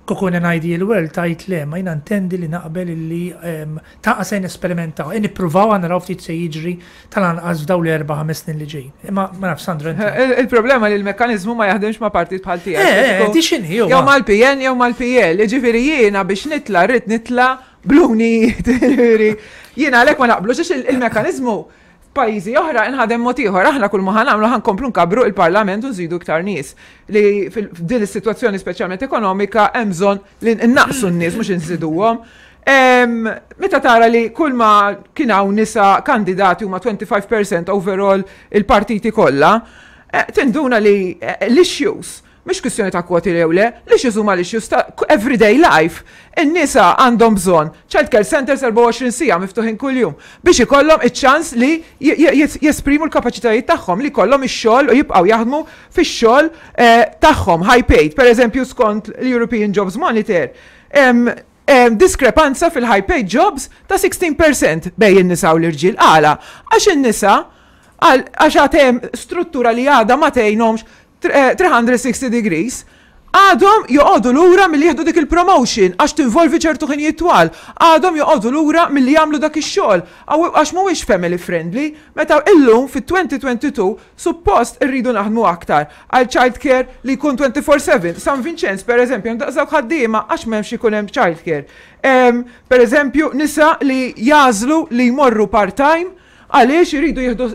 kieku in an ideal world tajt le, ma jiena intendi li naqbel li em, ta' se nesperimentaw, e nippruvaw, għandna naraw ftit se jiġri tal-anqas f'daw li erba' ħames snin li ġejjin. Imma ma naf, Sandra, inti. Il- Il-problema li l-mekkanizmu ma jaħdimx ma' partit bħal tiegħek. Eh, eh, di x'inhi Jew huwa. mal-P N jew mal-P L. Ġifieri jiena biex nitla' rrid nitla' bluni. Ġifieri jiena għalhekk ma naqblux, għax il- il-mekkaniżmu f'pajjiżi oħra inħadem mod ieħor. Aħna kull ma ħa nagħmlu ħa nkomplu nkabbru il-Parlament u nżidu iktar nies. Li fil- f'din is-sitwazzjoni speċjalment ekonomika hemm bżonn li nnaqqsu n-nies, mhux inżiduhom. Em, Meta tara li kull ma kien hawn nisa kandidati huma twenty-five percent overall il-partiti kollha, eh, tinduna li eh, l-issues mhix kwistjoni ta' kwoti jew le, l-issues huma l-issues ta' everyday life. In-nisa għandhom bżonn child care centers erbgħa u għoxrin siegħa miftuħin kuljum biex ikollhom iċ-ċans li j- j- jesprimu l-kapaċitajiet tagħhom, li jkollhom ix-xogħol u jibqgħu jaħdmu fix-xogħol eh, tagħhom high paid. Per eżempju, skont l-European Jobs Monitor, em, Diskrepanza fil-high paid jobs ta' sittax fil-mija bejn in-nisa u l-irġiel. Għala, għax in-nisa għax għad hemm struttura li għadha ma tgħinhomx three hundred sixty degrees, għadhom joqogħdu lura milli jieħdu dik il-promotion għax tinvolvi ċertu ħinijiet twal. Għadhom joqogħdu lura milli jagħmlu dak ix-xogħol għax mhuwiex family friendly. Meta illum fit-elfejn u tnejn u għoxrin suppost irridu naħdmu aktar għal child care li jkun twenty-four seven. San Vincenz, per eżempju, daqshekk ħaddiema għax m'hemmx ikun hemm child care. Per eżempju, nisa li jagħżlu li jmorru part-time għaliex iridu jieħdu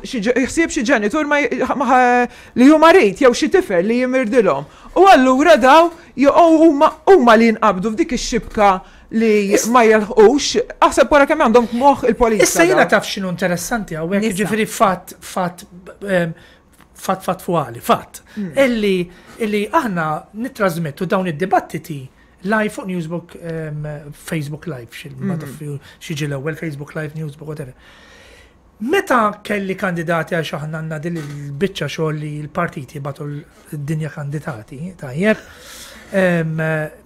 ħsieb xi ġenitur li hu marid jew xi tifel li jimirdilhom. U allura daw huma li jinqabdu f'dik ix-xibka li ma jilħqux, aħseb wara kemm għandhom moħħ il-politika. Issa jiena taf x'inhu interessanti hawnhekk, ġifieri fatt fatt fatt fattwali, fatt. Hmm. Illi illi aħna nittrażmettu dawn id-dibattiti live fuq Newsbook, Facebook Live, ma hmm. taf x'jiġi l-ewwel, Facebook Live, Newsbook, whatever. Meta kelli kandidati, għax aħna għandna din il-biċċa xogħol li l-partiti bagħtu d-dinja kandidati, tajjeb.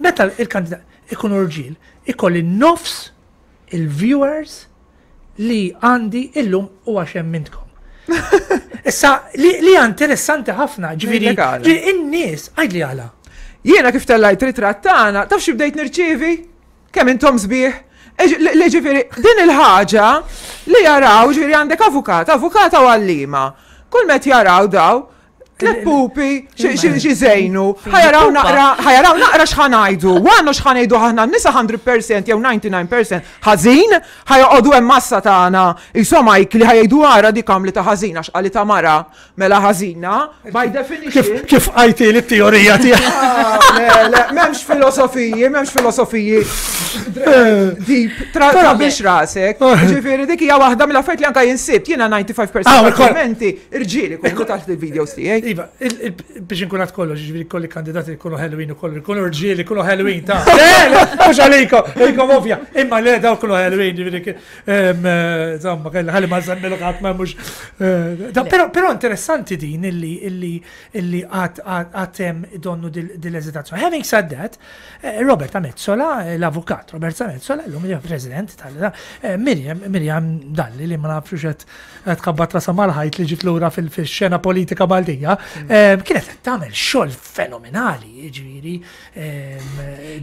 Meta il-kandidat ikunu rġiel, ikolli nofs il-viewers li għandi illum u għax hemm intkom. Issa, li, li interessanti ħafna, ġifieri, in-nies, għidli għala. Jiena kif tellajt ritratt tagħna, taf xi bdejt nirċievi? Kemm intom sbieħ? Li ġifieri, din il-ħaġa li jaraw, ġifieri għandek avukat, avukata u għallima. Kull met jaraw daw, tlet pupi, xi żejnu, ħa jaraw naqra, ħa jaraw naqra x'ħa ngħidu, għannu x'ħa ngħidu aħna nisa mija fil-mija jew disgħa u disgħin fil-mija ħażin, ħa joqogħdu hemm massa tagħna, insomma li ħa jgħidu ara dik għamli ta' ħażin għax qali ta' mara mela ħażina, by definition. Kif għajti li t-teorija tiegħek? Ah, le, le, m'hemmx filosofiji, m'hemmx filosofiji deep, trabix rasek. Ġifieri dik hija waħda mill-affarijiet li anka jinsibt, jiena disgħa u disgħin fil-mija Ah, tal-kommenti irġieli ikunu taħt il-videos tiegħi. Iva, biex nkun għad kollox, ġifieri kolli kandidati jkunu Halloween u kollu, jkunu rġieli, jkunu Halloween ta' Le, le, mhux għalikom, għalikom ovvja, imma le daw kunu Halloween, ġifieri, insomma, kelli ħalli ma nsemmilu ħadd ma mhux. Però però interessanti din illi illi illi għad għad hemm donnu dil-eżitazzjoni. Having said that, eh, Roberta Metsola, l-avukat Roberta Metsola, l-lum hija president tal eh, Miriam Miriam Dalli li ma nafx qed tħabbat rasha mal-ħajt li ġiet lura fil-xena politika Maltija, eh, kienet qed tagħmel xogħol fenomenali, ġifieri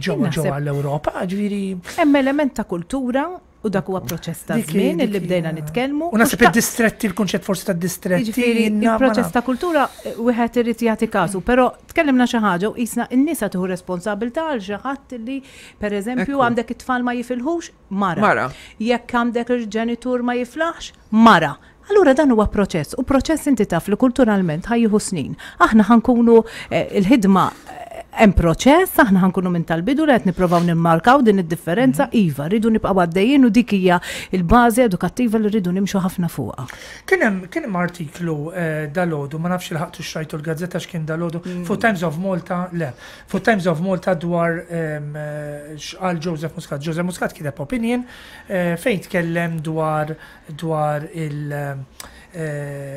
ġewwa ġewwa l-Ewropa, ġifieri. Hemm element ta' kultura u dak huwa proċess ta' żmien illi bdejna nitkellmu. U naħseb id-distretti, il-kunċett forsi ta' distretti. Jiġifieri il-proċess ta' kultura eh, wieħed irid jagħti kasu, però tkellimna xi ħaġa u qisna n-nisa tieħu responsabilità għal xi ħadd li, pereżempju, għandek it-tfal ma jifilħux, mara. Mara. Jekk għandek il-ġenitur ma jiflaħx, mara. Allura dan huwa proċess u proċess inti taf li kulturalment ħa jieħu snin. Aħna ħa nkunu eh, il-ħidma eh, hemm proċess, aħna ħa nkunu minn tal-bidu li qed nippruvaw nimmarkaw din id-differenza, iva, rridu nibqgħu għaddejjin u dik hija il-bażi edukattiva li rridu nimxu ħafna fuqha. Kien hemm kien hemm artiklu eh, dalgħodu, ma nafx ilħaqtu xrajtu l-gazzetta x'kien dalgħodu, fuq Times of Malta, le, fuq Times of Malta dwar em, eh, x'qal Joseph Muscat. Joseph Muscat kiteb opinion eh, fejn tkellem dwar dwar il eh,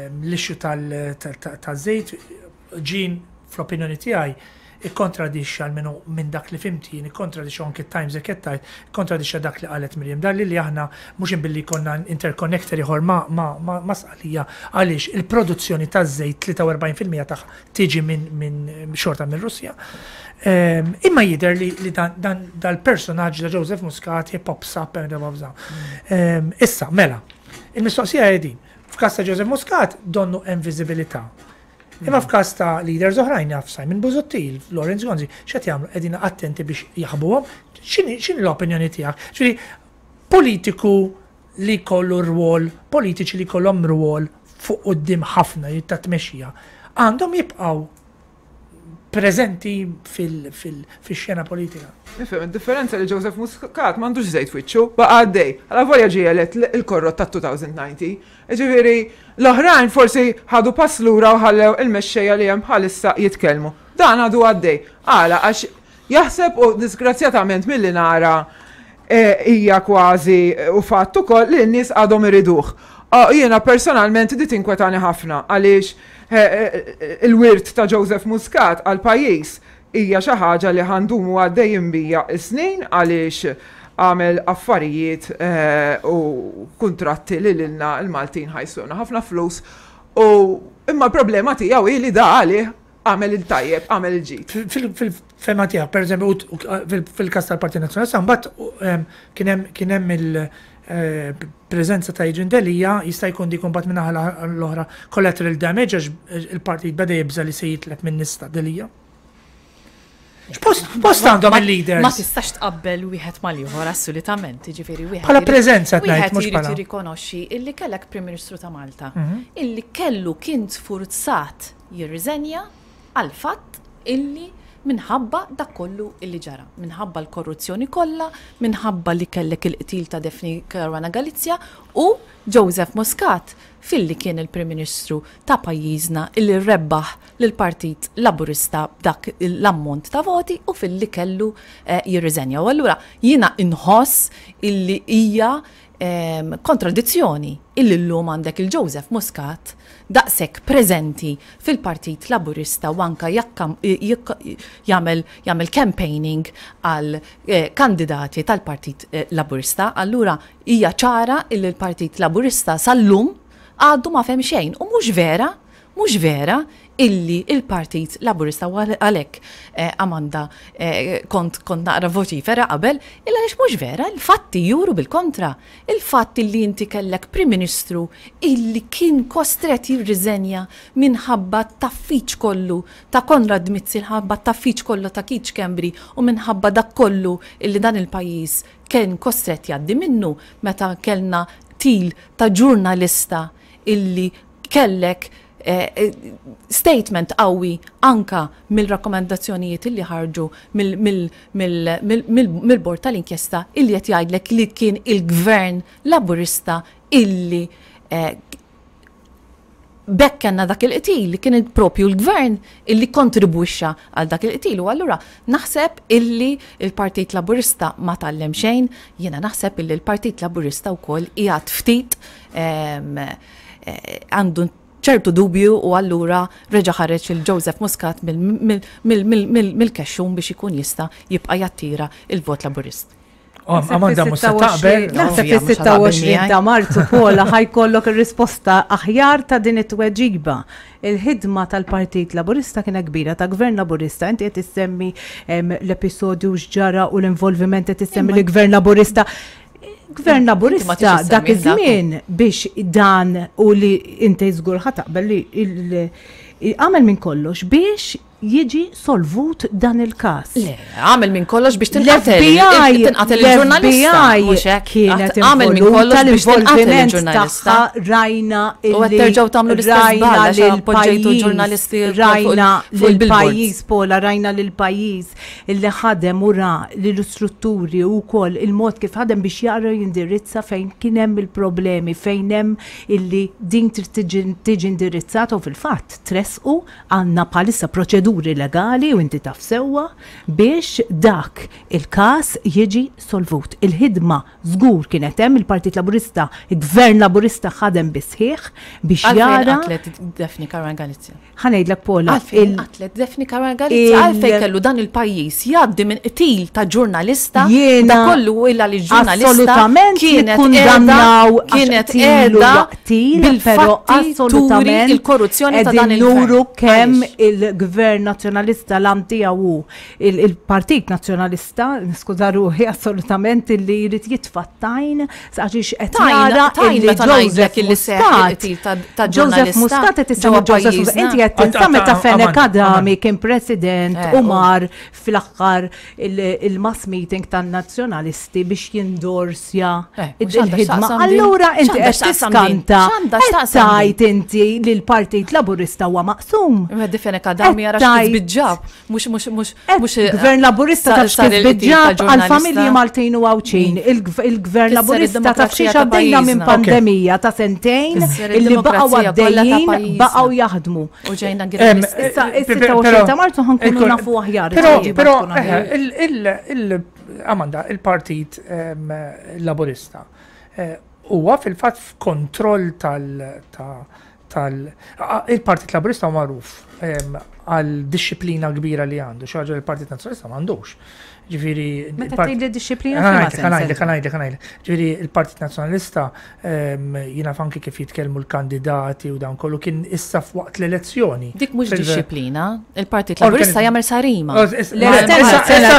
l-issue tal-żejt ġin fl-opinjoni tiegħi ikkontradixxa, almenu minn dak li fhimt jien, ikkontradixxa anke Times e kettajt, ikkontradixxa dak li qalet Miriam Dalli li aħna mhux billi konna interconnector ieħor ma ma ma, ma Sqallija, għaliex il-produzzjoni taż-żejt tlieta u erbgħin fil-mija tagħha tiġi minn min xorta minn Russja. Um, imma jidher li, li dan, dan dal-personaġġ da Joseph Muscat pops up and pops up. Um, issa, mela, il-mistoqsija hi din. F'każ ta' Joseph Muscat donnu hemm viżibilità. Imma f'każ ta' leaders oħrajn, jaf Simon Busuttil, Lawrence Gonzi, x'qed jagħmlu, qegħdin attenti biex jaħbuhom? X'inhi x'inhi l-opinjoni tiegħek? Ġifieri politiku li kollu rwol, politiċi li kollhom rwol fuq quddiem ħafna ta' tmexxija, għandhom jibqgħu preżenti fil-xena politika. Nifhem, id-differenza li Joseph Muscat m'għandux żejt wiċċu, baqa' għaddej. Għala volja ġie elett il-korrot ta' elfejn u dsatax. Ġifieri, l-oħrajn forsi ħadu pass lura u ħallew il-mexxejja li hemm bħalissa jitkellmu. Dan għadu għaddej. Għala, għax jaħseb u disgrazzjatament milli nara eh, hija kważi u fatt ukoll li n-nies għadhom iriduh. Ah, jiena personalment di tinkwetani ħafna għaliex eh, eh, il-wirt ta' Joseph Muscat għal pajjiż hija xi ħaġa li ħa ndumu għaddejjin bija snin għaliex għamel affarijiet u kuntratti li lilna l-Maltin ħajsuna ħafna flus, u imma l-problema tiegħu hi li da għalih għamel il-tajjeb, għamel il-ġid. Fil-fema tiegħek, per eżempju, fil-każ tal-Partit Nazzjonalista, mbagħad kien hemm il-preżenza ta' Adrian Delia, jista' jkun dik mbagħad minn naħa l-oħra collateral damage għax il-partit beda jibża li se jitlef minn nista Delia. X'post għandhom il-leaders? Ma tistax tqabbel wieħed mal-ieħor assolutament, jiġifieri wieħed. Bħala preżenza qed ngħid, mhux bħala. Wieħed jirrikonoxxi illi kellek Prim Ministru ta' Malta, illi kellu kien sfurzat jirriżenja għal fatt illi minħabba dak kollu illi ġara, minħabba l-korruzzjoni kollha, minħabba li kellek il-qtil ta' Daphne Caruana Galizia u Joseph Muscat filli kien il-Prim Ministru ta' pajjiżna illi rebbaħ lill-Partit Laburista b'dak l-ammont ta' voti u filli kellu jirriżenja. U allura jiena inħoss illi hija kontradizzjoni illi llum għandek il-Joseph Muscat daqshekk preżenti fil-Partit Laburista u anka jagħmel jagħmel campaigning għal kandidati tal-Partit Laburista. Allura hija ċara illi l-Partit Laburista sal-lum għadu ma fem xejn u mhux vera, mhux vera illi il-Partit Laburista u għalhekk Amanda kont kont naqra voċifera qabel, illa għaliex mhux vera, il-fatti juru bil-kontra. Il-fatt illi inti kellek Prim Ministru illi kien kostret jirriżenja minħabba t-taffiċ kollu ta' Konrad Mizzi, minħabba t-taffiċ kollu ta' Keith Schembri u minħabba dak kollu illi dan il-pajjiż kien kostret jgħaddi minnu meta kellna til ta' ġurnalista illi kellek statement qawwi anka mill-rakkomandazzjonijiet illi ħarġu mill-bord tal-inkjesta illi qed jgħidlek li kien il-gvern Laburista illi bekk kellna dak il-qtil, li kien propju l-gvern illi kontribwixxa għal dak il-qtil. U allura naħseb illi il-Partit Laburista ma tgħallem xejn, jiena naħseb illi l-Partit Laburista wkoll qiegħed ftit għandu ċertu dubju u allura reġa' ħareġ il-Joseph Muscat mill-kexxun biex ikun jista' jibqa' jattira il-vot Laburist. Amanda mhux se taqbel. Naħseb fis-sitta u għoxrin ta' Marzu Paula ħajkollok ir-risposta aħjar ta' din it-tweġiba. Il-ħidma tal-Partit Laburista kienet kbira, ta' Gvern Laburista. Inti qed issemmi l-episodju x'ġara u l-involviment qed issemmi l-Gvern Laburista. Gvern Laburista dak iż-żmien biex dan u li inti żgur ħa taqbel li għamel minn kollox biex jiġi solvut dan il-każ. Le, għamel minn kollox biex tinqatel tinqatel il-ġurnalista. Mhux hekk, għamel minn kollox biex tinqatel il-ġurnalista. Rajna U qed terġgħu tagħmlu l-istess żball għax appoġġejtu ġurnalisti rajna lill-pajjiż Paula, rajna lill-pajjiż illi ħadem u ra lill-istrutturi wkoll il-mod kif ħadem biex jaqra jindirizza fejn kien hemm il-problemi, fejn hemm illi din trid tiġi indirizzata u fil-fatt tresqu għandna bħalissa proċeduri legali u inti taf sewwa biex dak il-każ jiġi solvut. Il-ħidma żgur kienet hemm, il-Partit Laburista, il-Gvern Laburista ħadem bisħieħ biex jara. Għalfejn qatlet Daphne Caruana Galizia? Ħa ngħidlek Paula. Għalfejn qatlet Daphne Caruana Galizia? Għalfejn kellu dan il-pajjiż jgħaddi minn qtil ta' ġurnalista, da kollu illa li ġurnalista kienet nikkundannaw kienet qiegħda bil-fatti turi il-korruzzjoni ta' dan il-gvern. Nuru kemm il-Gvern Nazzjonalista l-għan tiegħu il-Partit Nazzjonalista, niskuża ruħi assolutament illi jrid jitfa' t-tajn għax qed nara illi Joseph Muscat Joseph Muscat qed issemmi Joseph Muscat. Inti qed tinsa meta Fenech Adami kien president u mar fl-aħħar il-mass meeting tan-nazzjonalisti biex jindorsja il-ħidma. Allura inti qed tiskanta qed tgħid inti li l-Partit Laburista huwa maqsum. Fenech Adami jara x'kif biġġab, mhux mhux mhux mhux Gvern Laburista taf x'kif biġġab għall-familji Maltin u Għawdxin. Il-Gvern Laburista taf xiex għaddejna minn pandemija ta' sentejn illi baqgħu għaddejjin baqgħu jaħdmu. U ġejna Issa is-sitta u għoxrin ta' Marzu ħankunu nafu aħjar. Però Amanda, il-Partit Laburista huwa fil-fatt f'kontroll tal- tal il-Partit Laburista huwa magħruf għal dixxiplina kbira li għandu, xi ħaġa li l-Partit Nazzjonalista m'għandux. Ġifieri Meta tgħid li dixxiplina ħa ngħidlek, ħa ngħidlek. Ġifieri il-Partit Nazzjonalista jiena anki kif jitkellmu l-kandidati u dan kollu kien issa f'waqt l-elezzjoni. Dik mhux dixxiplina, il-Partit Laburista jagħmel sarima.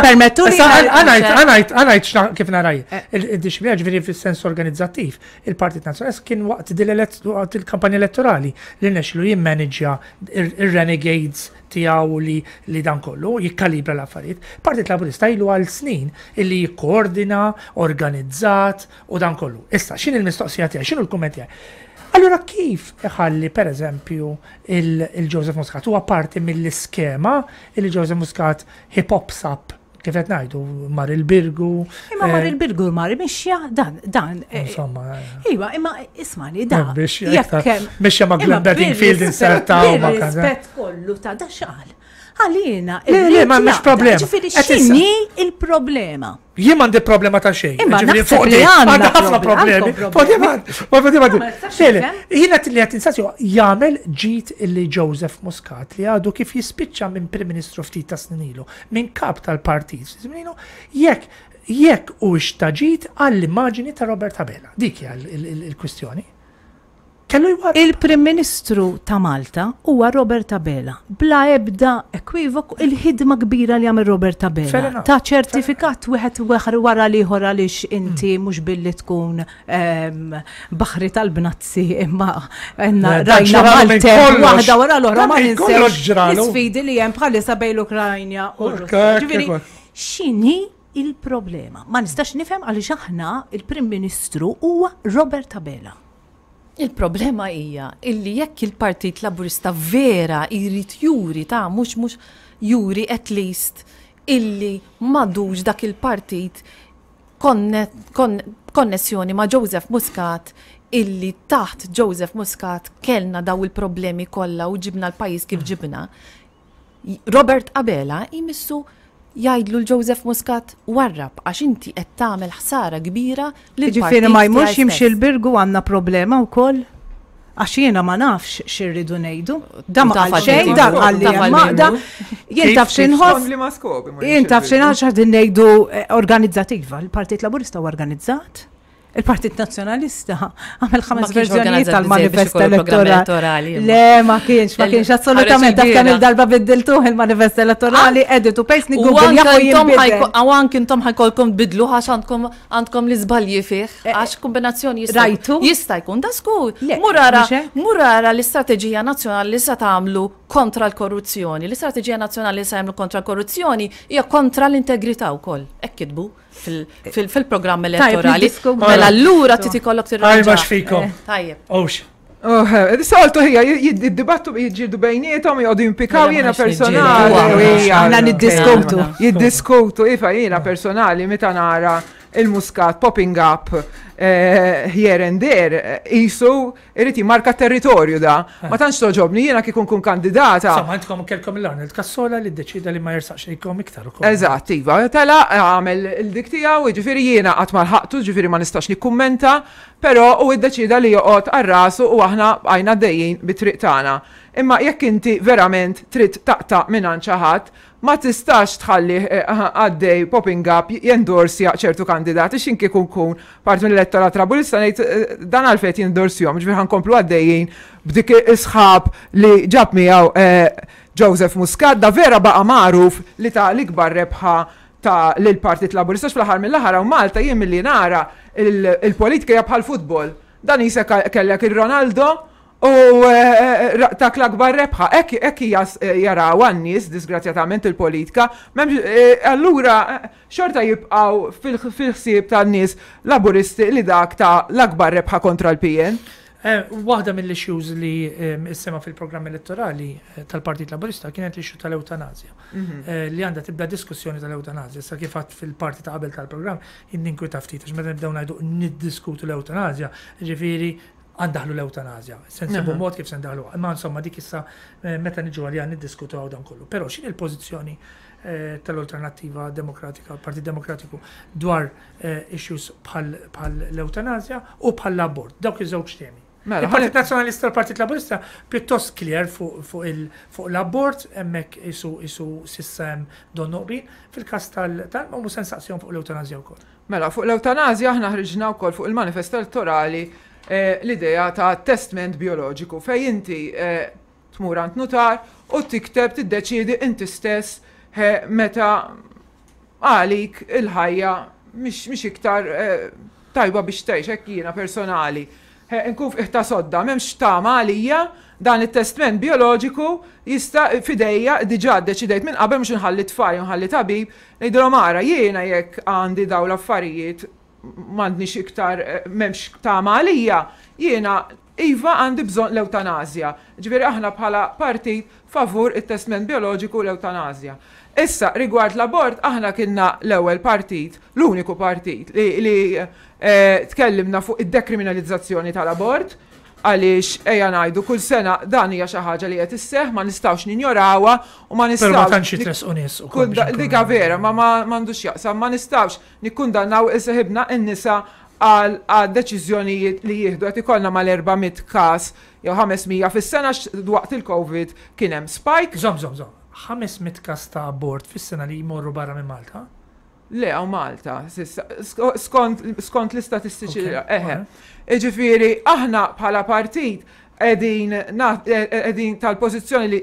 Permettu li Ħa ngħid, ħa ngħid kif narah. Il-dixxiplina ġifieri fis-sens organizzattiv. Il-Partit Nazzjonalista kien waqt il-kampanja elettorali li rnexxielu jimmanagja ir-renegades tiegħu li li dan kollu jikkalibra l-affarijiet. Partit Laburista ilu għal snin illi jikkoordina, organizzat u dan kollu. Issa, x'inhi l-mistoqsija tiegħi, x'inhu l-kumment tiegħi? Allura kif iħalli per eżempju il-Joseph Muscat huwa parti mill-iskema il Joseph Muscat he pops up kif qed ngħidu mar il-Birgu. Imma mar il-Birgu mar mixja dan dan. Insomma. Iva, imma ismani da. Mixja ma' Glenn Bedingfield insertaw ma' Rispett kollu ta' da xaqal. Għalina. Le, le, ma mhux problema. Ġifieri x'inhi il-problema? Jien m'għandi problema ta' xejn. Imma naħseb li għandna ħafna problemi. Jiena li qed insaqsi jagħmel ġid illi Joseph Muscat li għadu kif jispiċċa minn Prim Ministru ftit ta' snin ilu, minn kap tal-partit, jekk jekk u ġid għall-immaġini ta' Robert Abela. Dik hija il-kwistjoni. Kellu jwar. Il-Prim Ministru ta' Malta huwa Robert Abela. Bla ebda ekwivok il-ħidma kbira li għamel Robert Abela. Ta' ċertifikat wieħed wara l-ieħor għaliex inti mhux billi tkun baħri tal-bnazzi imma rajna Malta waħda wara l-oħra ma ninsewx l-isfidi li hemm bħalissa bejn l-Ukrajna u Russja. X'inhi il-problema? Ma nistax nifhem għaliex aħna il-Prim Ministru huwa Robert Abela. Il-problema hija illi jekk il-Partit Laburista vera jrid juri ta' mhux mhux juri at least illi m'għadux dak il-partit konnessjoni ma' Joseph Muscat illi taħt Joseph Muscat kellna daw il-problemi kollha u ġibna l-pajjiż kif ġibna. Robert Abela jmissu jgħidlu l-Joseph Muscat warrab għax inti qed tagħmel ħsara kbira lil Ġifieri ma jmurx jimxi l-Birgu għandna problema wkoll. Għax jiena ma nafx x'irridu ngħidu. Da ma qal xejn, da qal li hemm Jien taf x'inħoss. Jien taf x'inħoss qegħdin ngħidu organizzattiva. Il-Partit Laburista huwa organizzat. Il-Partit Nazzjonalista għamel ħames verżjonijiet tal-manifest elettorali. Le, ma kienx, ma kienx assolutament. Dak kemm il-darba biddiltuh il-manifest elettorali, edit u paste Google U anke intom ħa jkollkom bidlu għax għandkom għandkom l-iżbalji fih, għax kombinazzjoni Rajtu? Jista' jkun da skur. Murara, murara l-istrateġija nazzjonali li sa tagħmlu kontra l-korruzzjoni. L-istrateġija nazzjonali li sa jagħmlu kontra l-korruzzjoni hija kontra l-integrità wkoll. Hekk kitbu fil-programm elettorali. Mela allura trid ikollok tirranġa. Għaj fikom. Tajjeb. Ox. Soltu hija, jiddibattu jiġġieldu bejniethom, jgħodu jimpikaw jiena personali. Aħna niddiskutu. Jiddiskutu, ifa jiena personali meta nara il-Muscat popping up here and there, jisu irid jimmarka territorju da. Ma tantx toġobni jiena kieku nkun kandidata. Insomma, intkom kellkom l-Arnold Cassola li ddeċida li ma jersaqx lejkom iktar ukoll. Eżatt, iva, tela għamel il-dik tiegħu, jiġifieri jiena qatt ma lħaqtu, ġifieri ma nistax nikkummenta, però u iddeċida li joqgħod għal rasu u aħna bqajna dejjin bit-triq tagħna. Imma jekk inti verament trid taqta' minn xi ħadd, ma tistax tħalli għaddej popping up jendorsja ċertu kandidati x'in kieku nkun parti mill-elettorat Laburista ngħid dan għalfejn jendorsjhom, ġifieri ħa nkomplu għaddejjin b'dik is-sħab li ġab miegħu Joseph Muscat, da vera baqa' magħruf li ta' l-ikbar rebħa ta' lill-Partit Laburista fl-aħħar mill-aħħar hawn Malta jien milli nara il-politika hija bħal futbol. Dan jisek kellek il-Ronaldo u tak l-akbar rebħa. Hekk hija jaraw għan-nies, disgrazzjatament il-politika. Allura xorta jibqgħu fil-ħsieb tan-nies Laburisti li dak ta' l-akbar rebħa kontra l-P N. Waħda mill-issues li issema fil-programm elettorali tal-Partit Laburista kienet l-issue tal-eutanazja. Li għandha tibda diskussjoni tal-eutanazja. Sa kif għadt fil-parti ta' qabel tal-programm, ninkwita ftit, għax meta nibdew ngħidu niddiskutu l-eutanazja, ġifieri għa ndaħħlu l-eutanazja. Se nsibu mod kif se ndaħlu. Imma insomma dik issa meta niġu għalija niddiskutu għaw dan kollu. Però x'inhi l-pożizzjoni tal-Alternattiva Demokratika, Partit Demokratiku dwar issues bħal l-eutanazja u bħal l-abort, dawk iż-żewġ temi? Mela, Il-Partit Nazzjonalista u l-Partit Laburista pjuttost clear fuq fuq l-abort, hemmhekk isu isu s'issa hemm donnu qbil. Fil-każ tal tal mhux se nsaqsihom fuq l-eutanasja wkoll. Mela, fuq l-eutanasja aħna ħriġna wkoll fuq il-manifest elettorali eh, l-idea ta' testament bioloġiku fej inti eh, tmur għand nutar u tikteb, tiddeċiedi inti stess eh, meta għalik il-ħajja mhix iktar tajba biex tgħix. Hekk jiena personali nkun f'qiegħ ta' sodda, m'hemmx tama għalija, dan it-testament bioloġiku jista' fidejja, diġà deċidejt minn qabel, mhux nħalli tfal, nħalli tabib, ngħidilhom: "Ara, jiena jekk għandi daw l-affarijiet, m'għandniex iktar, m'hemmx tama għalija, jiena iva għandi bżonn l-eutanasja." Ġifieri aħna bħala partit favur it-testament bioloġiku u l-eutanasja. Issa, rigward l-abort, aħna kienna l-ewwel partit, l-uniku partit li, li eh, tkellimna fuq id-dekriminalizzazzjoni tal-abort, għaliex ejja ngħidu, kull sena dan hija xi ħaġa li qed isseħħ, ma nistgħux ninjorawha u ma Però ma nistgħux tantx jitresqu nies ukoll biex nkunu- Dika vera, ma ma m'għandux jaqsam, ma nistgħux nikkundannaw is-seħibna n-nisa għal għal deċiżjonijiet li jieħdu. Qed ikollna mal-erba' mitt każ jew ħames mija fis-sena, waqt il-Covid kien hemm spike. Żomm, żomm, żomm. ħames mitt każ ta' abort fis-sena li jmorru barra minn Malta? Le, hawn Malta, s'issa, skont, skont l-istatistiċi. Ok, Eħe. Ġifieri, aħna bħala partit qegħdin qegħdin tal-pożizzjoni li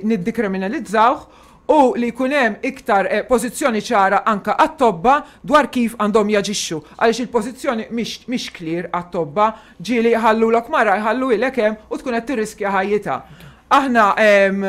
niddikriminalizzawh u li jkun hemm iktar eh, pożizzjoni ċara anka għat-tobba dwar kif għandhom jaġixxu. Għaliex il-pożizzjoni mhix mhix clear għat-tobba, ġieli jħallulok mara, jħallu ilek hemm u tkun qed tirriskja ħajjitha. Aħna em,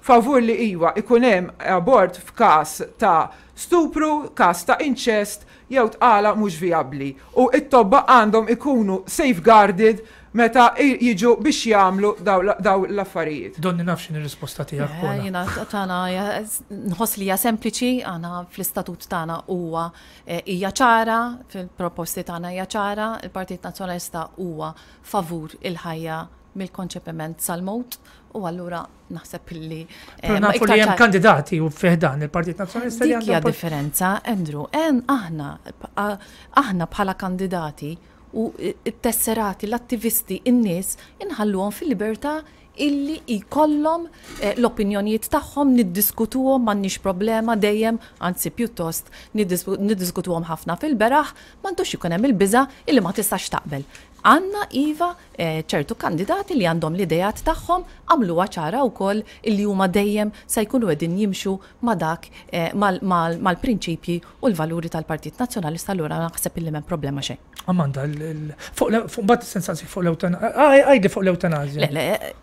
favur li iwa ikun hemm abort f'każ ta' stupru, każ ta' inċest jew tqala mhux vijabbli. U it-tobba għandhom ikunu safeguarded meta i- jiġu biex jagħmlu daw daw l-affarijiet. Donni naf x'inhi r-risposta tiegħek, Eh, Paula. Jiena tagħna hija- nħoss li hija sempliċi, għana fl-istatut tagħna huwa eh, hija ċara, fil-proposti tagħna hija ċara, il-Partit Nazzjonalista huwa favur il-ħajja mill-konċepiment sal-mewt u allura naħseb illi eh, Però ma nafu iktar li hemm ċar- kandidati u fi ħdan il-Partit Nazzjonalista li Dik hija għandhom differenza, Andrew. En aħna a- aħna bħala kandidati u it-tesserati, l-attivisti, in-nies inħalluhom fil-libertà illi jkollhom eh, l-opinjonijiet tagħhom, niddiskutuhom, m'għandniex problema dejjem, anzi pjuttost niddisku- niddiskutuhom ħafna fil-beraħ, m'għandux ikun hemm il-biża illi ma tistax taqbel. Għanna iva eh, ċertu kandidati li għandhom l-idejat tagħhom, għamluha ċara wkoll illi huma dejjem se jkunu qegħdin jimxu ma' dak eh, mal- mal- mal-prinċipji u l-valuri tal-Partit Nazzjonalista, allura naħseb illi m'hemm problema xejn. Amanda, l- l- fuq l- fuq mbagħad sensazzi fuq l-eutanazja. Għajdi fuq l-eutanazja. Le, le,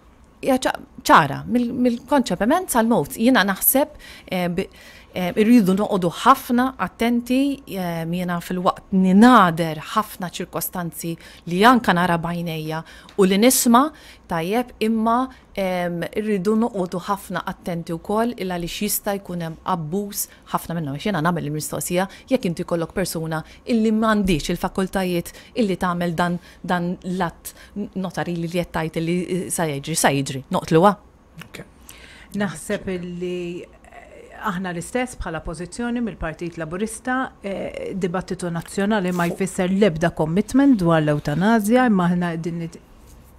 hija ċa- ċara, mill- mill-konċepiment sal-mewt. Jiena naħseb eh, bi- eh, irridu noqogħdu ħafna attenti, eh, jiena fil-waqt ninader ħafna ċirkostanzi li anka nara b'għajnejja u li nisma' tajjeb, imma em, irridu noqogħdu ħafna attenti wkoll il għaliex jista' jkun hemm abbuż ħafna minnhom. Għax jiena nagħmel il-mistoqsija: jekk inti jkollok persuna illi m'għandix il-fakultajiet illi tagħmel dan dan l-att notarili li qed tgħid illi sa jiġri, sa jiġri, noqtluha. Ok. Naħseb illi eh, aħna l-istess bħala pożizzjoni mill-Partit Laburista, eh, dibattitu nazzjonali ma jfisser l-ebda commitment dwar l-eutanazja, imma aħna din nit-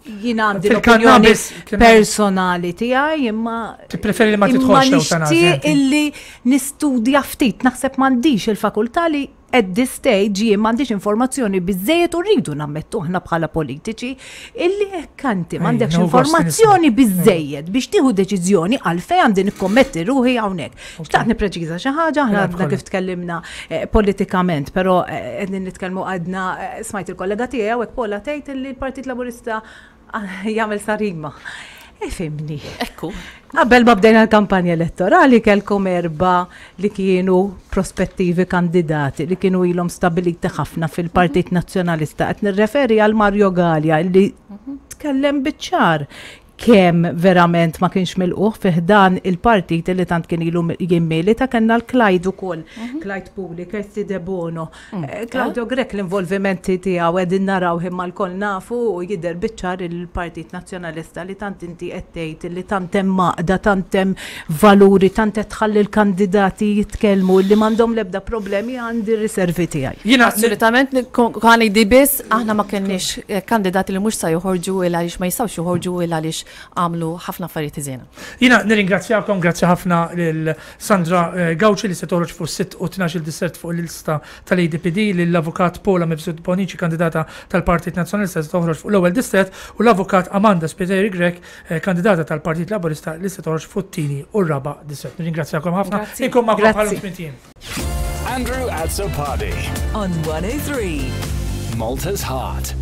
jiena għandi l-opinjoni Fil-cannabis kien- personali tiegħi, imma Tippreferi li ma imma tidħolx l-eutanazja, nixtieq inti? illi nistudja ftit, naħseb m'għandix il-fakultà li at this stage jien m'għandix informazzjoni biżejjed u rridu nammettu aħna bħala politiċi illi hekk anti m'għandekx no gost informazzjoni biżejjed biex tieħu deċiżjoni, għalfejn għandi nikkommetti ruħi hawnhekk. Xtaqt nippreċiża xi ħaġa, aħna Mela, għadna kollha. kif tkellimna eh, politikament, però eh, qegħdin nitkellmu, għadna eh, smajt il-kollega tiegħi hawnhekk Paula tgħid illi l-Partit Laburista ah, jagħmel sarima. Ifhimni. Ekku. Qabel ma bdejna l-kampanja elettorali kelkom erba li kienu prospettivi kandidati li kienu ilhom stabiliti ħafna fil-Partit Nazzjonalista. Qed nirreferi għal Mario Galea li tkellem biċ-ċar. Kemm verament ma kienx milqugħ fi ħdan il-partit li tant kien ilu jimmilita. Kellna l-Clyde ukoll, Clyde Puli, Kirsty Debono, eh, Claudio Grech, l-involvimenti tiegħu qegħdin naraw, imma lkoll nafu u jidher biċ-ċar il-Partit Nazzjonalista li tant inti qed tgħid li tant hemm għaqda, tant hemm valuri, tant qed tħalli l-kandidati jitkellmu li m'għandhom l-ebda problemi, għandi riservi tiegħi. Jiena Assolutament, kan di biss, aħna ma kenniex eh, kandidati li mhux sa joħorġu il għaliex ma jistgħux joħorġu il għaliex għamlu ħafna affarijiet ħżiena. Jiena nirringrazzjakom, grazzi ħafna lil Sandra eh, Gauci li se toħroġ fuq sitt u tnax-il distrett fuq l-lista tal-A D P D, lill-avukat Paula Mifsud Bonici, kandidata tal-Partit Nazzjonalista se toħroġ fuq l-ewwel distrett, u l-avukat Amanda Spiteri Grech, eh, kandidata tal-Partit Laburista li se toħroġ fuq it-tieni u r-raba' distrett. Nirringrazzjakom ħafna. Grazzi. Inkun magħkom Grazzi. bħal tmint ijiem. Andrew Azzopardi. On one oh three. Malta's Heart.